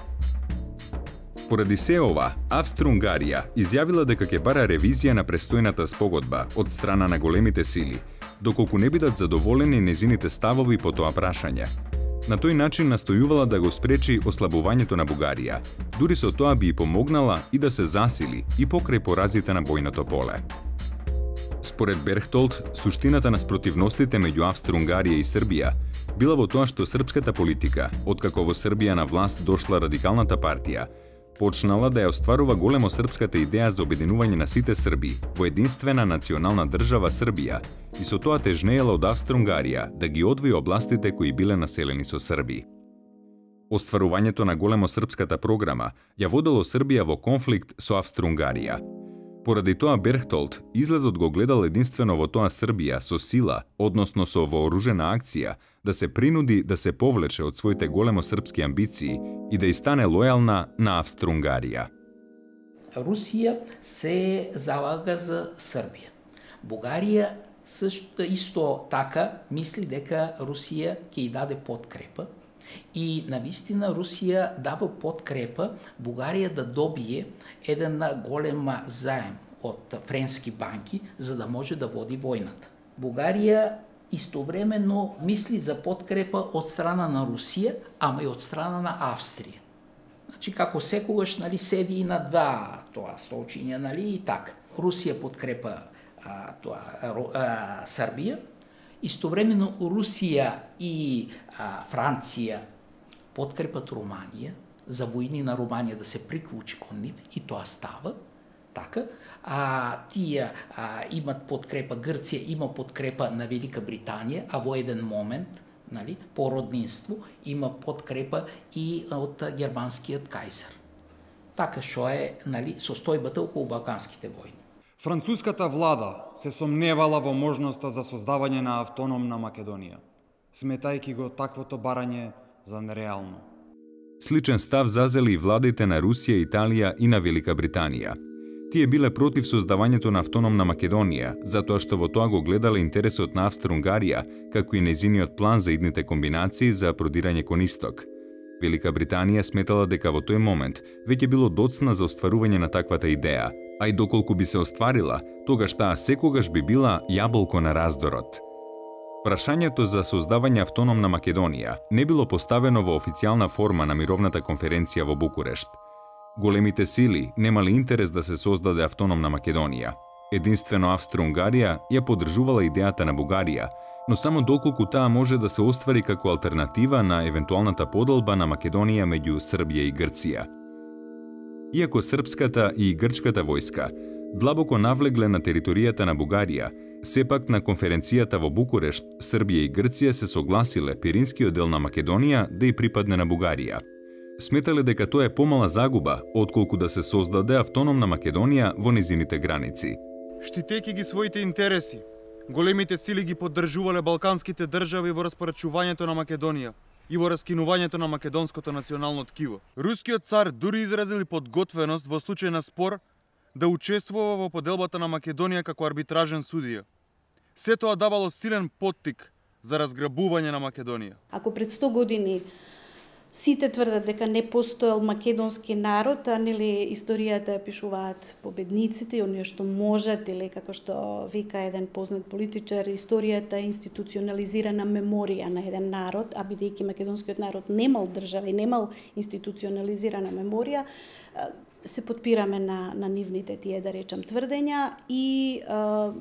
Поради се ова, Австро-Унгарија изјавила дека ќе бара ревизија на престојната спогодба од страна на големите сили, доколку не бидат задоволени незините ставови по тоа прашање. На тој начин настојувала да го спречи ослабувањето на Бугарија, дури со тоа би и помогнала и да се засили и покрај поразите на бојното поле. Според Берхтолд, суштината на спротивностите меѓу Австро-Унгарија и Србија била во тоа што српската политика, откако во Србија на власт дошла радикалната партија, почнала да ја остварува големо српската идеја за обединување на сите срби во единствена национална држава Србија и со тоа тежнеела од Австро-Унгарија да ги одвои областите кои биле населени со срби. Остварувањето на големо српската програма ја водело Србија во конфликт со Австро-Унгарија. Поради тоа Берхтолд излезот го гледал единствено во тоа Србија со сила, односно со вооружена акција, да се принуди да се повлече од своите големо српски амбиции и да и стане лојална на Австро-Унгарија. Русија се залага за Србија. Бугарија също исто така мисли дека Русија ќе ја даде подкрепа И навистина Русија дава подкрепа Бугарија да добие еден голем заем од френски банки за да може да води војната. Бугарија истовремено мисли за подкрепа од страна на Русија, ама и од страна на Австрија. Значи, како секогаш, нали, седи и на два тоа столчиња, нали, и така. Русија подкрепа а, тоа, а, Србија, истовремено Русија и а, Франција подкрепат Руманија, за војни на Руманија да се приклучи кон нив, и тоа става. Така, а тие а, имат подкрепа, Грција има подкрепа на Велика Британија, а во еден момент, нали, по роднинство, има подкрепа и од германскиот кајзар. Така што е, нали, состојбата околу Балканските војни. Француската влада се сомневала во можноста за создавање на автономна Македонија, сметајќи го таквото барање за нереално. Сличен став зазели и владите на Русија, Италија и на Велика Британија. Тие биле против создавањето на автономна Македонија, затоа што во тоа го гледале интересот на Австро-Унгарија, како и нејзиниот план за идните комбинации за продирање кон исток. Велика Британија сметала дека во тој момент веќе било доцна за остварување на таквата идеја, а и доколку би се остварила, тогаш таа секогаш би била јаболко на раздорот. Прашањето за создавање автономна Македонија не било поставено во официјална форма на мировната конференција во Букурешт. Големите сили немали интерес да се создаде автономна Македонија. Единствено Австро-Унгарија ја поддржувала идејата на Бугарија, но само доколку таа може да се оствари како алтернатива на евентуалната поделба на Македонија меѓу Србија и Грција. Иако српската и грчката војска длабоко навлегле на територијата на Бугарија, сепак на конференцијата во Букурешт Србија и Грција се согласиле пиринскиот дел на Македонија да и припадне на Бугарија. Сметале дека тоа е помала загуба, отколку да се создаде автономна Македонија во низините граници. Штитејќи ги своите интереси, големите сили ги поддржувале балканските држави во распорачувањето на Македонија и во раскинувањето на македонското национално ткиво. Рускиот цар дури изразил подготвеност во случај на спор да учествува во поделбата на Македонија како арбитражен судија. Се тоа давало силен поттик за разграбување на Македонија. Ако пред сто години сите тврдат дека не постоел македонски народ, а нели историјата ја пишуваат победниците и оние што можат, или како што вика еден познат политичар, историјата е институционализирана меморија на еден народ, а бидејќи македонскиот народ немал држава и немал институционализирана меморија, се потпираме на, на нивните тие, да речам, тврдења и а,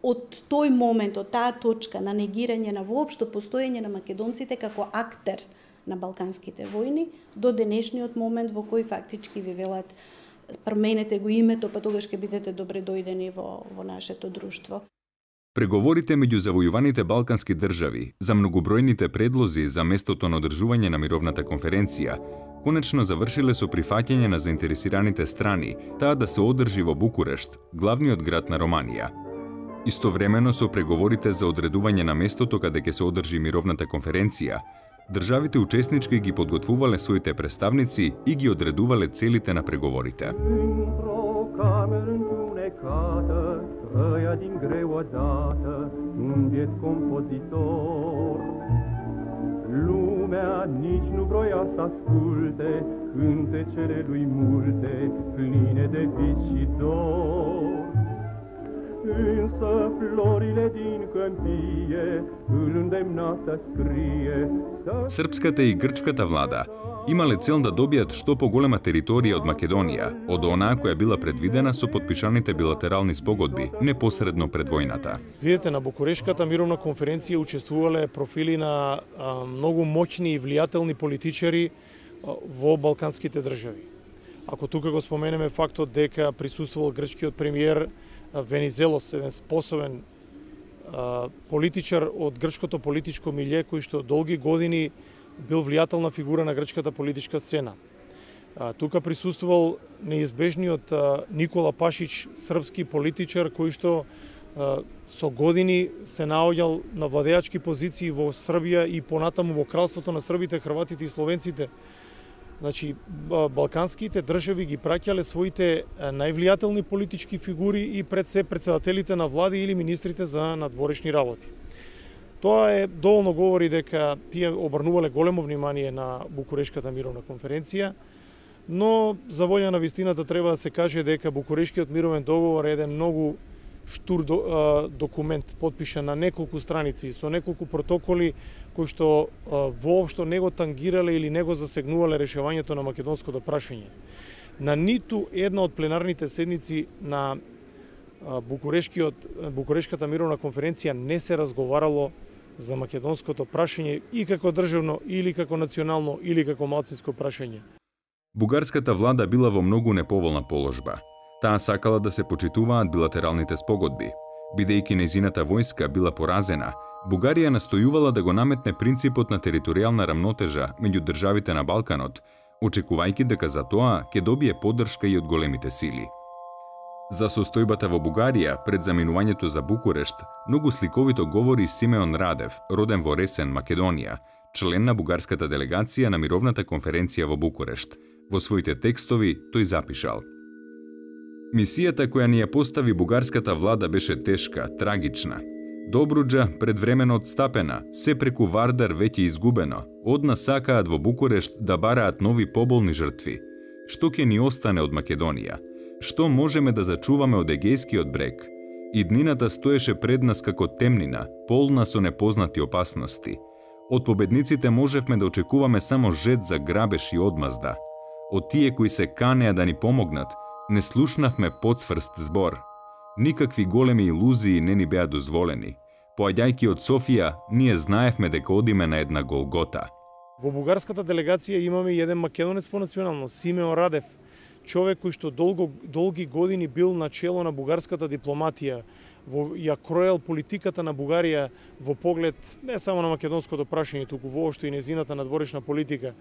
од тој момент, од таа точка на негирање на воопшто постоење на македонците како актер на балканските војни, до денешниот момент во кој фактички ви велат променете го името, па тогаш ќе бидете добре дојдени во, во нашето друштво. Преговорите меѓу завојуваните балкански држави за многобројните предлози за местото на одржување на мировната конференција конечно завршиле со прифаќање на заинтересираните страни таа да се одржи во Букурешт, главниот град на Романија. Истовремено со преговорите за одредување на местото каде ќе се одржи мировната конференција, државите учеснички ги подготвувале своите представници и ги одредувале целите на преговорите. Lumea nici nu vroia să asculte cântecele lui multe, pline de vis și dor. Însă florile din câmpie îl îndemna să scrie. Српската и грчката влада имале цел да добијат што поголема територија од Македонија, од онаа која била предвидена со подпишаните билатерални спогодби непосредно пред војната. Видете, на Букурешката мировна конференција учествувале профили на а, многу моќни и влијателни политичари а, во балканските држави. Ако тука го споменеме фактот дека присуствувал грчкиот премиер Венизелос, еден способен а, политичар од грчкото политичко милје, кој што долги години бил влијателна фигура на грчката политичка сцена. А, тука присуствувал неизбежниот а, Никола Пашич, српски политичар кој што а, со години се наоѓал на владеачки позиции во Србија и понатаму во кралството на србите, хрватите и словенците. Значи, балканските држави ги праќале своите највлијателни политички фигури и пред се председателите на влади или министрите за надворешни работи. Тоа е доволно говори дека тие обрнувале големо внимание на Букурешката мировна конференција, но за волја на вистината треба да се каже дека Букурешкиот мировен договор е еден многу штур до, а, документ, подпишан на неколку страници, со неколку протоколи кои што а, воопшто не го тангирале или не го засегнувале решавањето на македонското прашање. На ниту една од пленарните седници на а, Букурешкиот, Букурешката мировна конференција не се разговарало за македонското прашање и како државно, или како национално, или како малцинско прашање. Бугарската влада била во многу неповолна положба. Таа сакала да се почитуваат билатералните спогодби. Бидејќи нејзината војска била поразена, Бугарија настојувала да го наметне принципот на територијална рамнотежа меѓу државите на Балканот, очекувајќи дека за тоа ќе добие поддршка и од големите сили. За состојбата во Бугарија пред заминувањето за Букурешт, многу сликовито говори Симеон Радев, роден во Ресен, Македонија, член на бугарската делегација на мировната конференција во Букурешт. Во своите текстови тој запишал: Мисијата која ни ја постави бугарската влада беше тешка, трагична. Добруџа предвремено отстапена, се преку Вардар веќе изгубено. Од нас сакаат во Букурешт да бараат нови поболни жртви. Што ќе ни остане од Македонија? Што можеме да зачуваме од Егејскиот брег? Иднината стоеше пред нас како темнина, полна со непознати опасности. Од победниците можевме да очекуваме само жет за грабеж и одмазда. Од тие кои се канеа да ни помогнат, не слушнавме подсврст збор. Никакви големи илузии не ни беа дозволени. Поаѓајќи од Софија, ние знаевме дека одиме на една Голгота. Во бугарската делегација имаме еден македонец по националност, Симеон Радев, човек кој што долго, долги години бил на чело на бугарската дипломатија, во, ја кроел политиката на Бугарија во поглед не само на македонското прашање, туку воопшто и нејзината надворешна политика.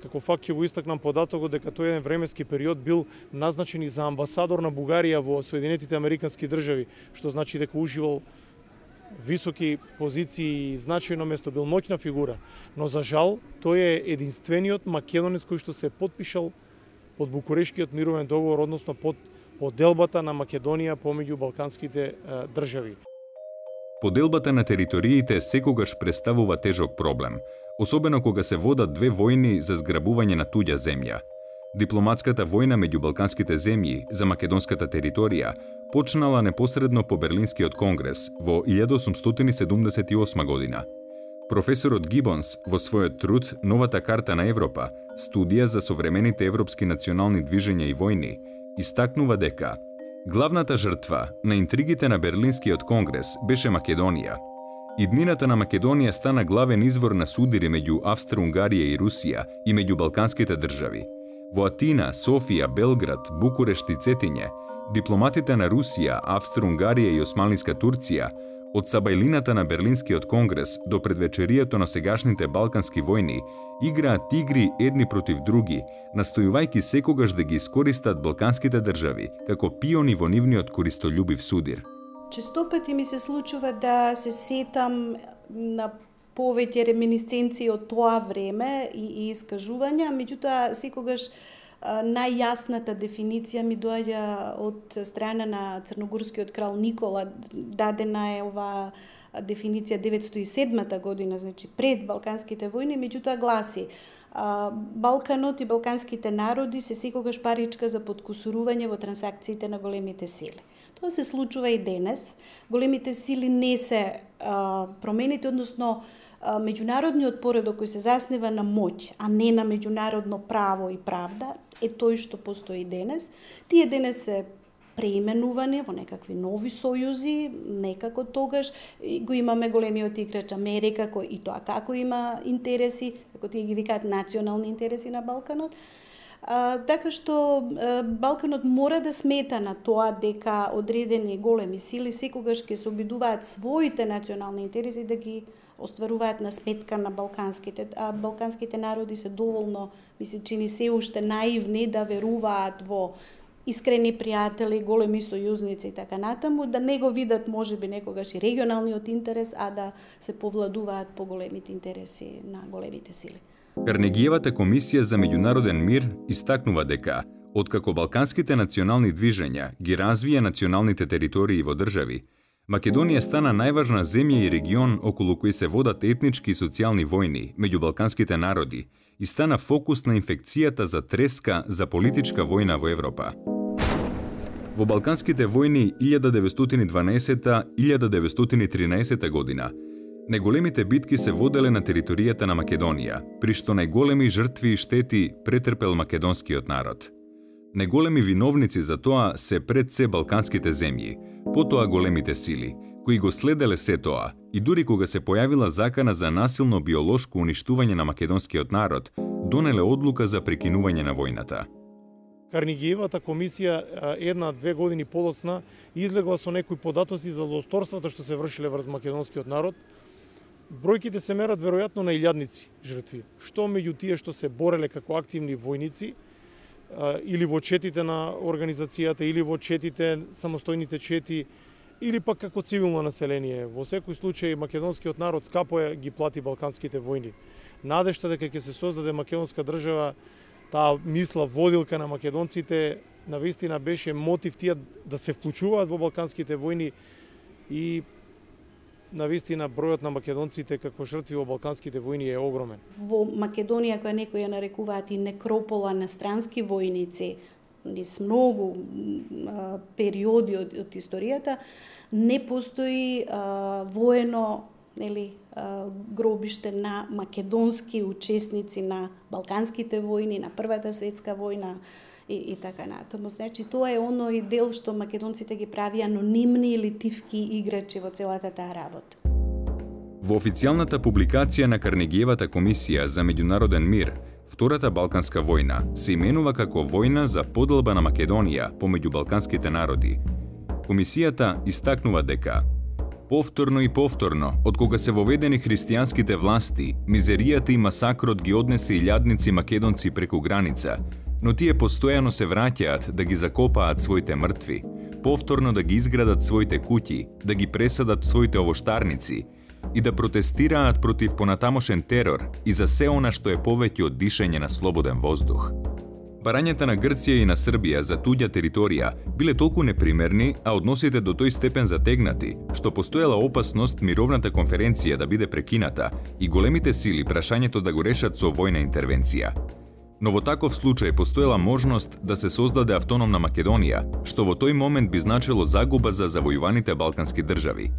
Како факт ќе го истакнам податокот дека тој еден временски период бил назначен и за амбасадор на Бугарија во Соединетите Американски држави, што значи дека уживал високи позиции и значајно место, бил моќна фигура. Но за жал, тој е единствениот македонец кој што се потпишал под Букурешкиот мировен договор, односно под поделбата на Македонија помеѓу балканските е, држави. Поделбата на териториите секогаш представува тежок проблем, особено кога се водат две војни за зграбување на туѓа земја. Дипломатската војна меѓу балканските земји за македонската територија почнала непосредно по Берлинскиот конгрес во илјада осумстотини седумдесет и осма година. Професорот Гибонс во својот труд Новата карта на Европа, студија за современите европски национални движења и војни, истакнува дека главната жртва на интригите на Берлинскиот конгрес беше Македонија. Иднината на Македонија стана главен извор на судири меѓу Австро-Унгарија и Русија и меѓу балканските држави. Во Атина, Софија, Белград, Букурешт и Цетиње, дипломатите на Русија, Австро-Унгарија и Османлиска Турција, од сабајлината на Берлинскиот конгрес до предвечерието на сегашните балкански војни, играат игри едни против други, настојувајќи секогаш да ги искористат балканските држави како пиони во нивниот користолюбив судир. Често пати ми се случува да се сетам на повеќе реминисценции од тоа време и, и искажувања, меѓутоа секогаш најјасната дефиниција ми доаѓа од страна на црногорскиот крал Никола. Дадена е ова дефиниција деветстотини и седма година, значи пред балканските војни, меѓутоа гласи: Балканот и балканските народи се секогаш паричка за подкусурување во трансакциите на големите сили. Тоа се случува и денес. Големите сили не се а, промените, односно а, меѓународниот поредок кој се заснива на моќ, а не на меѓународно право и правда, е тој што постои денес. Тие денес се преименувани во некакви нови сојузи, некако тогаш го имаме големиот играч Америка, кој и тоа како има интереси, како тие ги викаат национални интереси на Балканот. А, така што а, Балканот мора да смета на тоа дека одредени големи сили секогаш ќе се обидуваат своите национални интереси да ги остваруваат на сметка на балканските. А балканските народи се доволно, ми се чини, се уште наивни да веруваат во искрени пријатели, големи сојузници и така натаму, да не го видат можеби некогаш и регионалниот интерес, а да се повладуваат по големите интереси на големите сили. Карнегиевата комисија за меѓународен мир истакнува дека, откако балканските национални движења ги развија националните територии во држави, Македонија стана најважна земја и регион околу кој се водат етнички и социјални војни меѓу балканските народи и стана фокус на инфекцијата за треска за политичка војна во Европа. Во балканските војни илјада деветстотини и дванаесета - илјада деветстотини и тринаесета година најголемите битки се воделе на територијата на Македонија, при што најголеми жртви и штети претрпел македонскиот народ. Најголеми виновници за тоа се пред се балканските земји, потоа големите сили, кои го следеле се тоа и дури кога се појавила закана за насилно биолошко уништување на македонскиот народ, донеле одлука за прекинување на војната. Карнегиевата комисија една-две години подоцна излегла со некои податоци за злосторствата што се вршиле врз македонскиот народ. Бројките се мерат веројатно на илјадници жртви, што меѓу тие што се бореле како активни војници или во четите на организацијата, или во четите, самостојните чети, или пак како цивилно население. Во секој случај македонскиот народ скапо е ги плати балканските војни. Надежта дека ќе се создаде македонска држава, таа мисла водилка на македонците, навистина беше мотив тие да се вклучуваат во балканските војни и навистина бројот на македонците како жртви во балканските војни е огромен. Во Македонија, која некои ја нарекуваат и некропола на странски војници, низ многу а, периоди од, од историјата, не постои а, воено, нели, а, гробиште на македонски учесници на балканските војни, на Првата светска војна и, и така натаму. Значи, тоа е оној дел што македонците ги прави анонимни или тивки играчи во целата таа работа. Во официјалната публикација на Карнегиевата комисија за меѓународен мир, Втората Балканска војна се именува како војна за поделба на Македонија помеѓу балканските народи. Комисијата истакнува дека повторно и повторно, од кога се воведени христијанските власти, мизеријата и масакрот ги однесе илјадници македонци преку граница, но тие постојано се враќаат да ги закопаат своите мртви, повторно да ги изградат своите куќи, да ги пресадат своите овоштарници и да протестираат против понатамошен терор и за се она што е повеќе од дишење на слободен воздух. Барањата на Грција и на Србија за туѓа територија биле толку непримерни, а односите до тој степен затегнати, што постоела опасност мировната конференција да биде прекината и големите сили прашањето да го решат со војна интервенција. Но во таков случај постоела можност да се создаде автономна Македонија, што во тој момент би значило загуба за завојуваните балкански држави.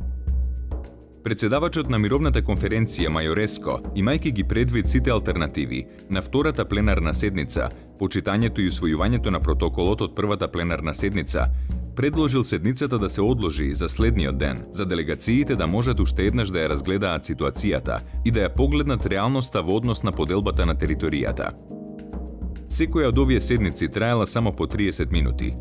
Председавачот на мировната конференција Мајореско, имајќи ги предвид сите алтернативи на втората пленарна седница, почитањето и усвојувањето на протоколот од првата пленарна седница, предложил седницата да се одложи за следниот ден, за делегациите да можат уште еднаш да ја разгледаат ситуацијата и да ја погледнат реалноста во однос на поделбата на територијата. Секоја од овие седници траела само по триесет минути.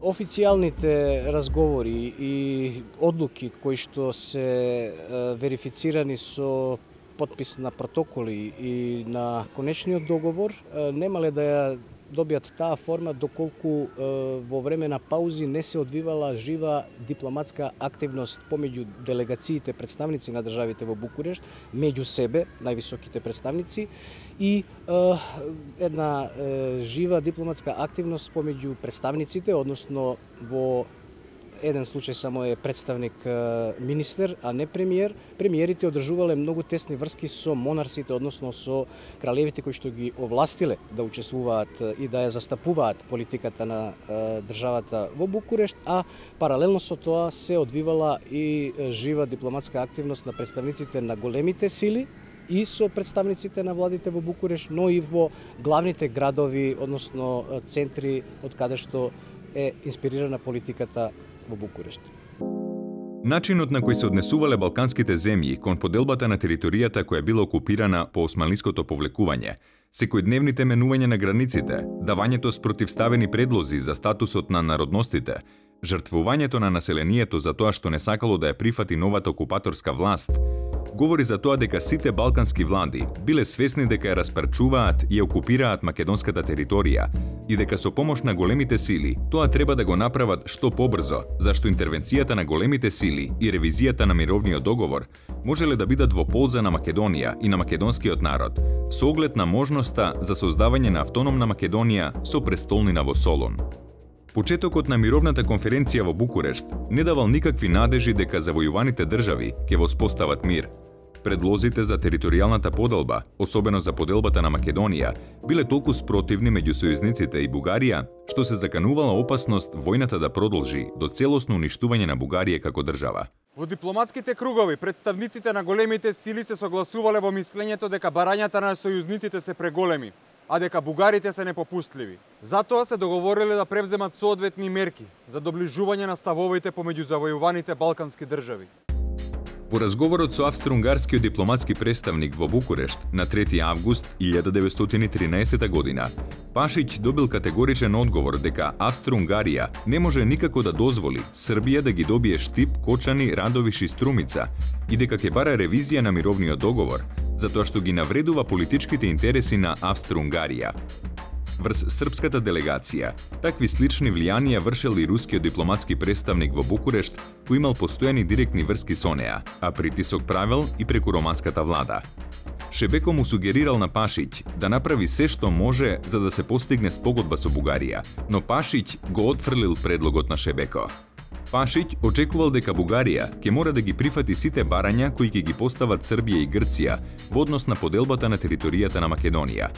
Официјалните разговори и одлуки кои што се верифицирани со потпис на протоколи и на конечниот договор немале да ја добијат таа форма доколку во време на паузи не се одвивала жива дипломатска активност помеѓу делегациите представници на државите во Букурешт, меѓу себе, највисоките представници, и една жива дипломатска активност помеѓу представниците, односно во еден случај само е представник министер, а не премиер. Премиерите одржувале многу тесни врски со монарсите, односно со кралевите кои што ги овластиле да учествуваат и да ја застапуваат политиката на државата во Букурешт, а паралелно со тоа се одвивала и жива дипломатска активност на представниците на големите сили и со представниците на владите во Букурешт, но и во главните градови, односно центри од каде што е инспирирана политиката во Букурешт. Начинот на кој се однесувале балканските земји кон поделбата на територијата која била окупирана по османлиското повлекување, секојдневните менување на границите, давањето спротивставени предлози за статусот на народностите, жртвувањето на населението за тоа што не сакало да ја прифати новата окупаторска власт, говори за тоа дека сите балкански влади биле свесни дека ја распарчуваат и ја окупираат македонската територија и дека со помош на големите сили тоа треба да го направат што побрзо, зашто интервенцијата на големите сили и ревизијата на мировниот договор можеле да бидат во полза на Македонија и на македонскиот народ, со оглед на можноста за создавање на автономна Македонија со престолнина во Солун. Почетокот на мировната конференција во Букурешт не давал никакви надежи дека завојуваните држави ќе воспостават мир. Предлозите за територијалната поделба, особено за поделбата на Македонија, биле толку спротивни меѓу сојузниците и Бугарија, што се заканувала опасност војната да продолжи до целосно уништување на Бугарија како држава. Во дипломатските кругови, представниците на големите сили се согласувале во мислењето дека барањата на сојузниците се преголеми, а дека бугарите се непопустливи. Затоа се договориле да превземат соодветни мерки за доближување на ставовите помеѓу завојуваните балкански држави. Во разговорот со австро-унгарскиот дипломатски представник во Букурешт на трети август илјада деветстотини и тринаесета година, Пашиќ добил категоричен одговор дека Австро-Унгарија не може никако да дозволи Србија да ги добие Штип, Кочани, Радовиш и Струмица и дека ќе бара ревизија на мировниот договор, затоа што ги навредува политичките интереси на Австро-Унгарија. Врз српската делегација, такви слични влијанија вршел и рускиот дипломатски представник во Букурешт, кој имал постојани директни врски со неа, а притисок правел и преку романската влада. Шебеко му сугерирал на Пашиќ да направи се што може за да се постигне спогодба со Бугарија, но Пашиќ го отфрлил предлогот на Шебеко. Пашиќ очекувал дека Бугарија ќе мора да ги прифати сите барања кои ќе ги постават Србија и Грција во однос на поделбата на територијата на Македонија.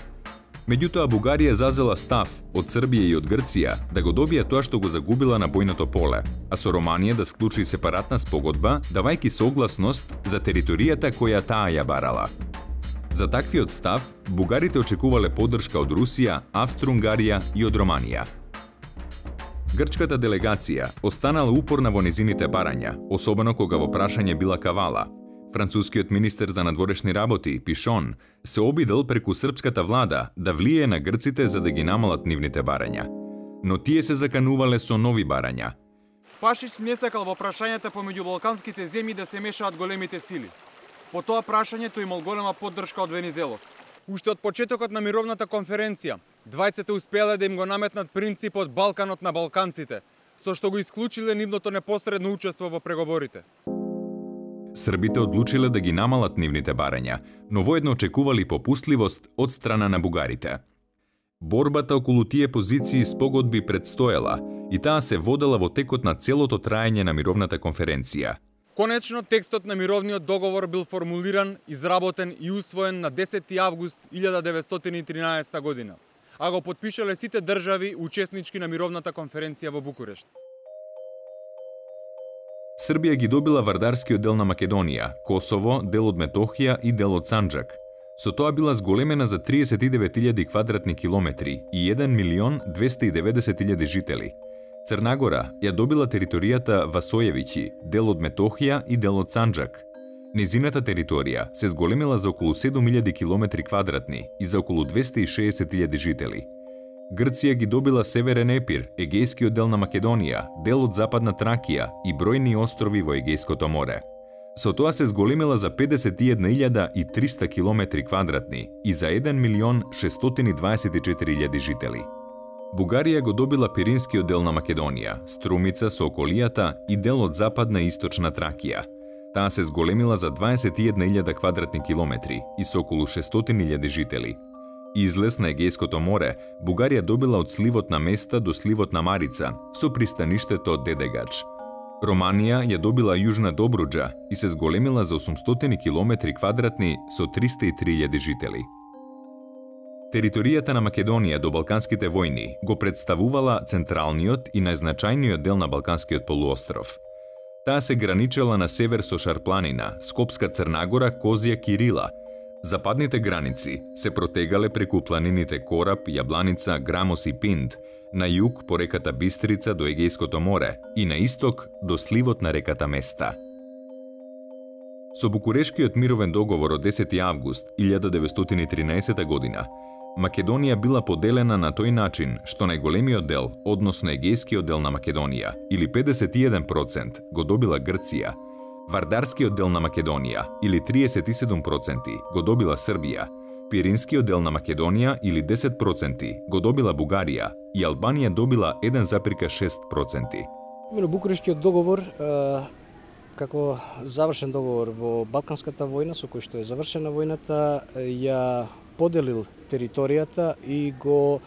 Меѓутоа, Бугарија зазела став од Србија и од Грција да го добија тоа што го загубила на бојното поле, а со Романија да склучи сепаратна спогодба, давајќи согласност за територијата која таа ја барала. За таквиот став, бугарите очекувале поддршка од Русија, Австро-Унгарија и од Романија. Грчката делегација останала упорна во незините барања, особено кога во прашање била Кавала. Францускиот министер за надворешни работи, Пишон, се обидел преку српската влада да влие на грците за да ги намалат нивните барања. Но тие се заканувале со нови барања. Пашиќ не сакал во прашањата помеѓу балканските земји да се мешаат големите сили. По тоа прашањето имал голема поддршка од Венизелос. Уште од почетокот на мировната конференција, двајцата успеале да им го наметнат принципот Балканот на балканците, со што го исклучиле нивното непосредно учество во преговорите. Србите одлучиле да ги намалат нивните барања, но воедно очекували попустливост од страна на бугарите. Борбата околу тие позиции спогодби предстоела и таа се водела во текот на целото траење на мировната конференција. Конечно, текстот на мировниот договор бил формулиран, изработен и усвоен на десети август илјада деветстотини и тринаесета година, а го потпишале сите држави учеснички на мировната конференција во Букурешт. Србија ги добила вардарскиот дел на Македонија, Косово, дел од Метохија и дел од Санџак. Со тоа била зголемена за триесет и девет илјади квадратни километри и еден милион двесте и деветдесет илјади жители. Црнагора ја добила територијата Васојевиќи, дел од Метохија и дел од Санџак. Незината територија се зголемила за околу седум илјади километри квадратни и за околу двесте и шеесет илјади жители. Грција ги добила Северен Епир, егејскиот дел на Македонија, дел од Западна Тракија и бројни острови во Егејското море. Со тоа се зголемила за педесет и една илјада и триста километри квадратни и за еден милион шестстотини дваесет и четири илјади жители. Бугарија го добила Пиринскиот дел на Македонија, Струмица со околијата и дел од Западна и Источна Тракија. Таа се зголемила за дваесет и една илјада квадратни километри и со околу шестстотини илјади жители. Излез на Егејското море, Бугарија добила од сливот на Места до сливот на Марица, со пристаништето Дедегач. Романија ја добила Јужна Добруџа и се зголемила за осумстотини километри квадратни со триста и три илјади жители. Територијата на Македонија до Балканските војни го представувала централниот и најзначајниот дел на Балканскиот полуостров. Таа се граничела на север со Шарпланина, Скопска Црнагора, Козија, Кирила. Западните граници се протегале преку планините Кораб, Јабланица, Грамос и Пинд, на југ по реката Бистрица до Егејското море и на исток до сливот на реката Места. Со Букурешкиот мировен договор од десети август илјада деветстотини и тринаесета година, Македонија била поделена на тој начин што најголемиот дел, односно егејскиот дел на Македонија, или педесет и еден проценти, го добила Грција, Вардарскиот дел на Македонија, или триесет и седум проценти, го добила Србија, Пиринскиот дел на Македонија, или десет проценти, го добила Бугарија и Албанија добила еден запирка шест проценти. Именно Букурешкиот договор, како завршен договор во Балканската војна, со кој што е завршена војната, ја поделил територијата и го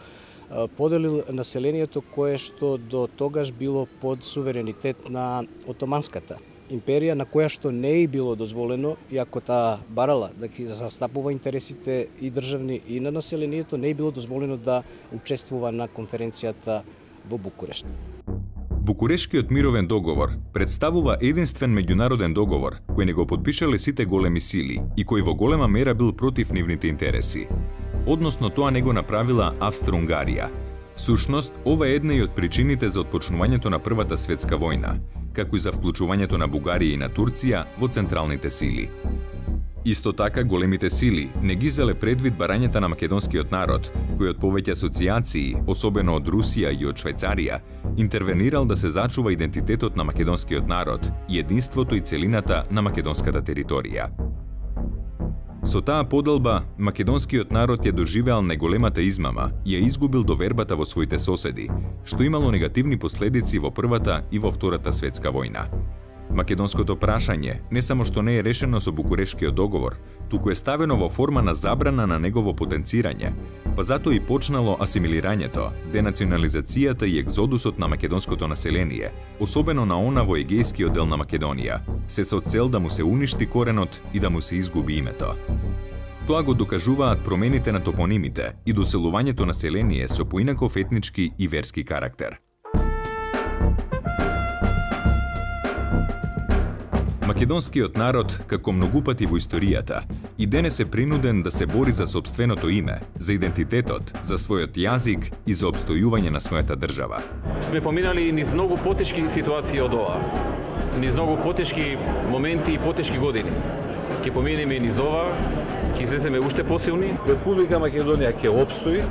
поделил населението кое што до тогаш било под суверенитет на Отоманската империја, на која што не е било дозволено, иако таа барала да ги застапува интересите и државни и на населението, не е било дозволено да учествува на конференцијата во Букурешт. Букурешкиот мировен договор представува единствен меѓународен договор кој не го подпишале сите големи сили и кој во голема мера бил против нивните интереси. Односно тоа не го направила Австро-Унгарија. Всушност, ова е една и од причините за отпочнувањето на Првата светска војна, како и за вклучувањето на Бугарија и на Турција во централните сили. Исто така, големите сили не ги зеле предвид барањата на македонскиот народ, кој од повеќе асоциации, особено од Русија и од Швајцарија, интервенирал да се зачува идентитетот на македонскиот народ и единството и целината на македонската територија. Со таа поделба, македонскиот народ ја доживеал најголемата измама и ја изгубил довербата во своите соседи, што имало негативни последици во Првата и во Втората светска војна. Македонското прашање не само што не е решено со Букурешкиот договор, туку е ставено во форма на забрана на негово потенцирање, па затоа и почнало асимилирањето, денационализацијата и екзодусот на македонското население, особено на она во егејскиот дел на Македонија, се со цел да му се уништи коренот и да му се изгуби името. Тоа го докажуваат промените на топонимите и доселувањето население со поинаков етнички и верски карактер. Македонскиот народ, како многу пати во историјата, и денес е принуден да се бори за сопственото име, за идентитетот, за својот јазик и за обстојување на својата држава. Сме поминали низ многу потешки ситуации од ова, низ многу потешки моменти и потешки години. Ќе поминеме и низ ова, ќе излеземе уште посилни. Република Македонија ќе опстои,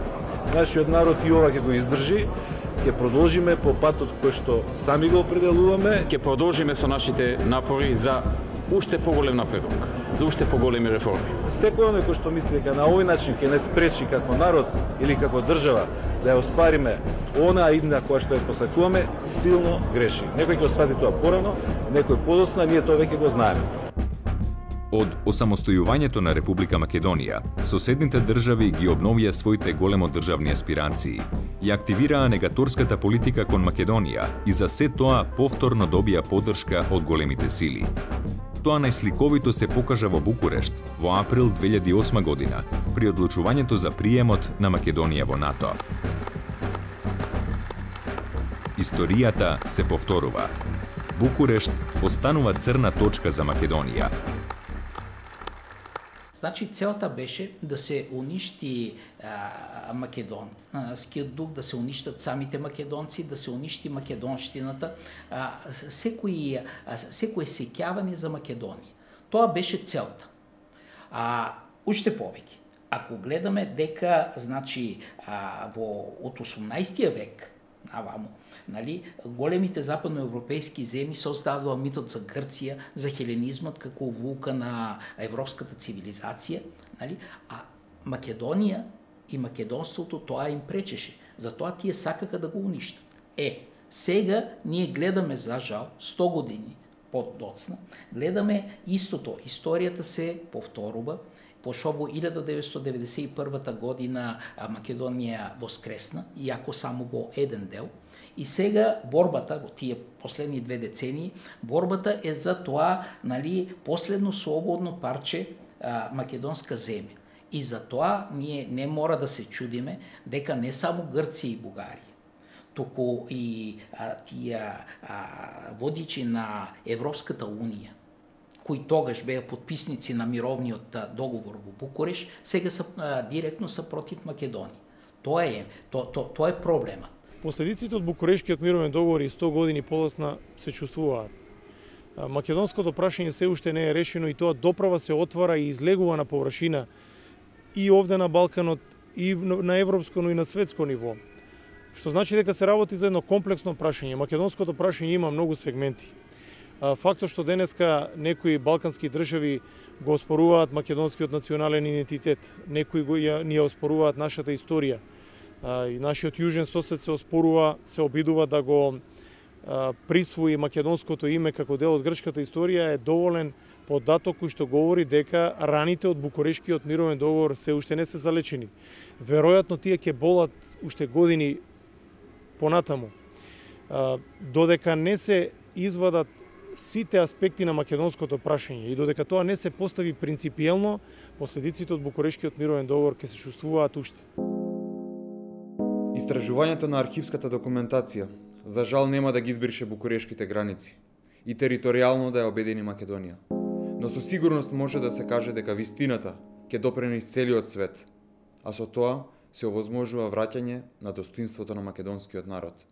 нашиот народ и ова ќе го издржи. Ќе продолжиме по патот кој што сами го определуваме. Ќе продолжиме со нашите напори за уште поголем напредок, за уште поголеми реформи. Секој оној кој што мисли дека на овој начин ќе не спречи како народ или како држава да ја оствариме онаа идна која што ја посакуваме, силно греши. Некој ќе освати тоа порано, некој подоцна, ние тоа веќе го знаеме. Од осамостојувањето на Република Македонија, соседните држави ги обновија своите големо државни аспирации и активираа негаторската политика кон Македонија и за се тоа повторно добија поддршка од големите сили. Тоа најсликовито се покажа во Букурешт во април две илјади и осма година при одлучувањето за приемот на Македонија во НАТО. Историјата се повторува. Букурешт останува црна точка за Македонија. Значи, целта беше да се уништи а, македонскиот дух, да се уништат самите македонци, да се уништи македонштината, а, секој, а, секој сеќавање за Македонија. Тоа беше целта. А, уште повеќе. Ако гледаме дека, значи, а, во, од осумнаести век, наваму, нали, големите западноевропејски земји создадоа митот за Грција, за хеленизмот како вулка на европската цивилизација, нали, а Македонија и македонството тоа им пречеше. Затоа тие сакаха да го уништат. Е, сега ние гледаме, за жал, сто години подоцна, гледаме истото. Историјата се повторува, пошто во илјада деветстотини деветдесет и прва година Македонија воскресна, иако само во еден дел. И сега борбата, во тие последни две децении, борбата е за тоа, нали, последно слободно парче а, македонска земја. И за тоа ние не мора да се чудиме дека не само Грција и Бугарија, туку и а, тие а, водичи на Европската унија, кои тогаш беа подписници на мировниот договор во Букуреш, сега са а, директно са против Македонија. Тоа е, то, то, тоа е проблемот. Последиците од Букурешкиот мировен договор и сто години подоцна се чувствуваат. Македонското прашање се уште не е решено и тоа доправа се отвара и излегува на површина и овде на Балканот, и на европско, но и на светско ниво. Што значи дека се работи за едно комплексно прашање. Македонското прашање има многу сегменти. Фактот што денеска некои балкански држави го оспоруваат македонскиот национален идентитет, некои го ја, ни ја оспоруваат нашата историја, и нашиот јужен сосед се оспорува, се обидува да го присвои македонското име како дел од грчката историја, е доволен податок кој што говори дека раните од Букурешкиот мировен договор се уште не се залечени. Веројатно тие ќе болат уште години понатаму. Додека не се извадат сите аспекти на македонското прашање и додека тоа не се постави принципиелно, последиците од Букурешкиот мировен договор ќе се чувствуваат уште. Истражувањето на архивската документација за жал нема да ги избрише букурешките граници и територијално да ја обедини Македонија. Но со сигурност може да се каже дека вистината ќе допре низ целиот свет, а со тоа се овозможува враќање на достоинството на македонскиот народ.